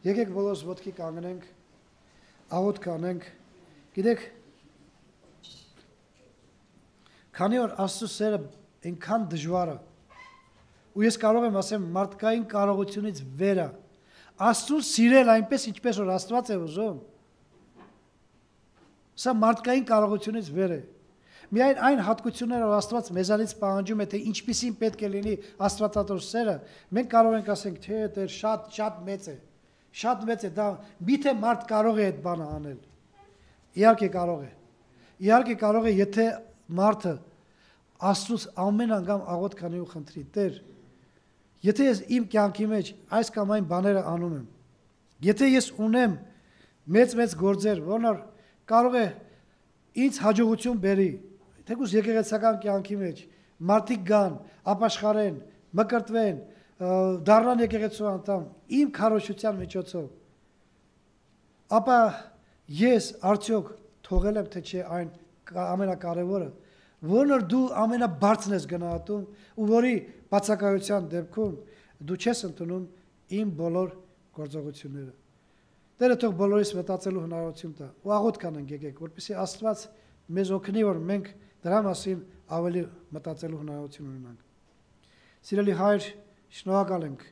Եկեք բոլորս ոտքի կանգնենք, աղոթք անենք։ Գիտեք, քանի որ Աստծո սերը այնքան դժվար է, ու ես կարող եմ ասեմ մարդկային կարողությունից վեր է, Աստծուն սիրել այնպես, ինչպես որ Աստված է ուզում, սա մարդկային կարողությունից վեր է։ Միայն այն հատկությունները, որ Աստված մեզանից պահանջում է, թե ինչպիսին պետք է լինի Աստվածատոր սերը, մենք կարող ենք ասենք, թե դա շատ շատ մեծ է։ Շատ մեծ է, դա միթե մարդ կարող է այդ բանը անել։ Իհարկե կարող է։ Իհարկե կարող է, եթե մարդը Աստծուց ամեն անգամ աղոտ քանի ու խնդրի Տեր, եթե ես իմ կյանքի մեջ այս կամ այն բաները անում եմ, եթե ես ունեմ մեծ-մեծ գործեր, որոնք կարող է ինձ հաջողություն բերի, թեկուզ եկեղեցական կյանքի մեջ մարդիկ գան, ապաշխարեն, մկրտվեն, դառնան եկեղեցու անդամ, իմ քարոզչության միջոցով, ապա ես արդյոք թողել եմ թե չէ այն ամենակարևորը, որն դու ամենաբարձրն ես գնահատում ու որի բացակայության դեպքում դու չես ընդունում իմ բոլոր գործողությունները։ Տերը թող բոլորիս մտածելու հնարավորություն տա ու աղոթ կանենք եկեք, որպեսզի Աստված մեզ օգնի, որ մենք դրա մասին ավելի մտածելու հնարավորություն ունենանք։ Սիրելի Հայր, շնորհակալ ենք։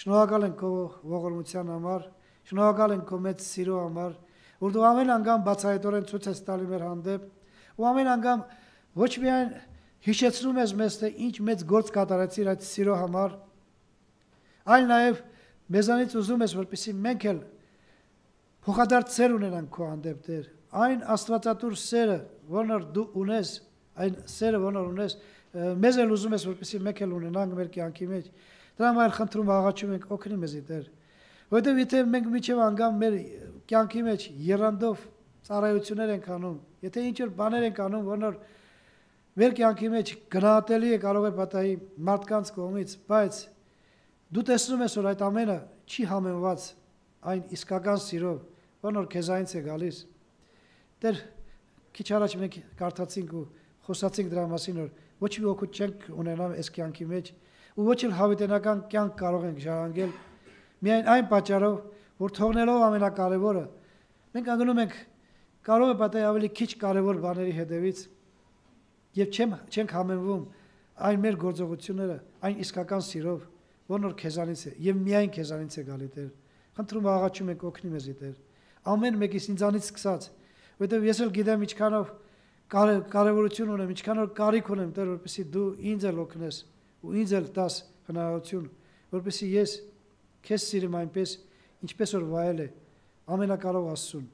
Շնորհակալ ենք քո ողորմության համար, շնորհակալ ենք քո մեծ սիրո համար, որ դու ամեն անգամ բացահայտորեն ցույց ես տալի մեր հանդեպ ու ամեն անգամ ոչ միայն հիշեցնում ես մեզ, թե ինչ մեծ գործ կատարեցիր այդ սիրո համար, այլ նաև մեզանից ուզում ես, որպեսզի մենք էլ փոխադարձ սեր ունենանք քո հանդեպ, Տեր, այն աստվածատուր սերը, որն դու ունես, այն սերը, որն ունես, մեզ էլ ուզում ես, որպեսզի մենք էլ ունենանք մեր կյանքի մեջ։ Դրա համար խնդրում աղաչում ենք, օգնի մեզ, Տեր, որովհետև եթե մենք միջև անգամ մեր կյանքի մեջ եռանդով ծառայություններ ենք անում, եթե ինչ որ բաներ ենք անում, որոնք մեր կյանքի մեջ գնահատելի է կարող է պատահի մարդկանց կողմից, բայց դու տեսնում ես, որ այդ ամենը չի համեմված այն իսկական սիրով, որն քեզանից է գալիս։ Տեր, քիչ առաջ մենք կարդացինք ու խոսացինք դրա մասին, որ ոչ մի օգուտ չենք ունենա այս կյանքի մեջ ու ոչ էլ հավիտենական կյանք կարող ենք ժառանգել միայն այն պատճառով, որ թողնելով ամենակարևորը, մենք անգնում ենք կարող է պատահի ավելի քիչ կարևոր բաների հետևից եւ չենք համեմվում այն մեր գործողությունները, այն իսկական սիրով, որն քեզանից է եւ միայն քեզանից է գալի, Տեր։ Խնդրում աղաչում ենք օգնի մեզ, Տեր։ Ամեն մեկից ինձանից սկսած, որովհետեւ ես էլ գիտեմ ինչքանով կարևորություն ունեմ, ինչքանով կարիք ունեմ, Տեր, որպեսզի դու ինձ էլ օգնես ու ինձ էլ տաս հնարավորություն, որպեսզի ես քեզ սիրեմ այնպես, ինչպես որ վայել է ամենակարող Աստծուն։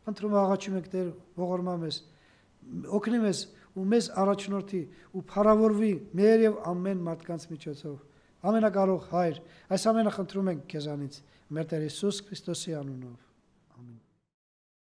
Խնդրում աղաչում ենք, Տեր, ողորմա մեզ, օգնի մեզ ու մեզ առաջնորդի ու փառավորվի մեր եւ ամեն մարդկանց միջոցով։ Ամենակարող Հայր, այս ամենը խնդրում ենք քեզանից, մեր Տեր Հիսուս Քրիստոսի անունով։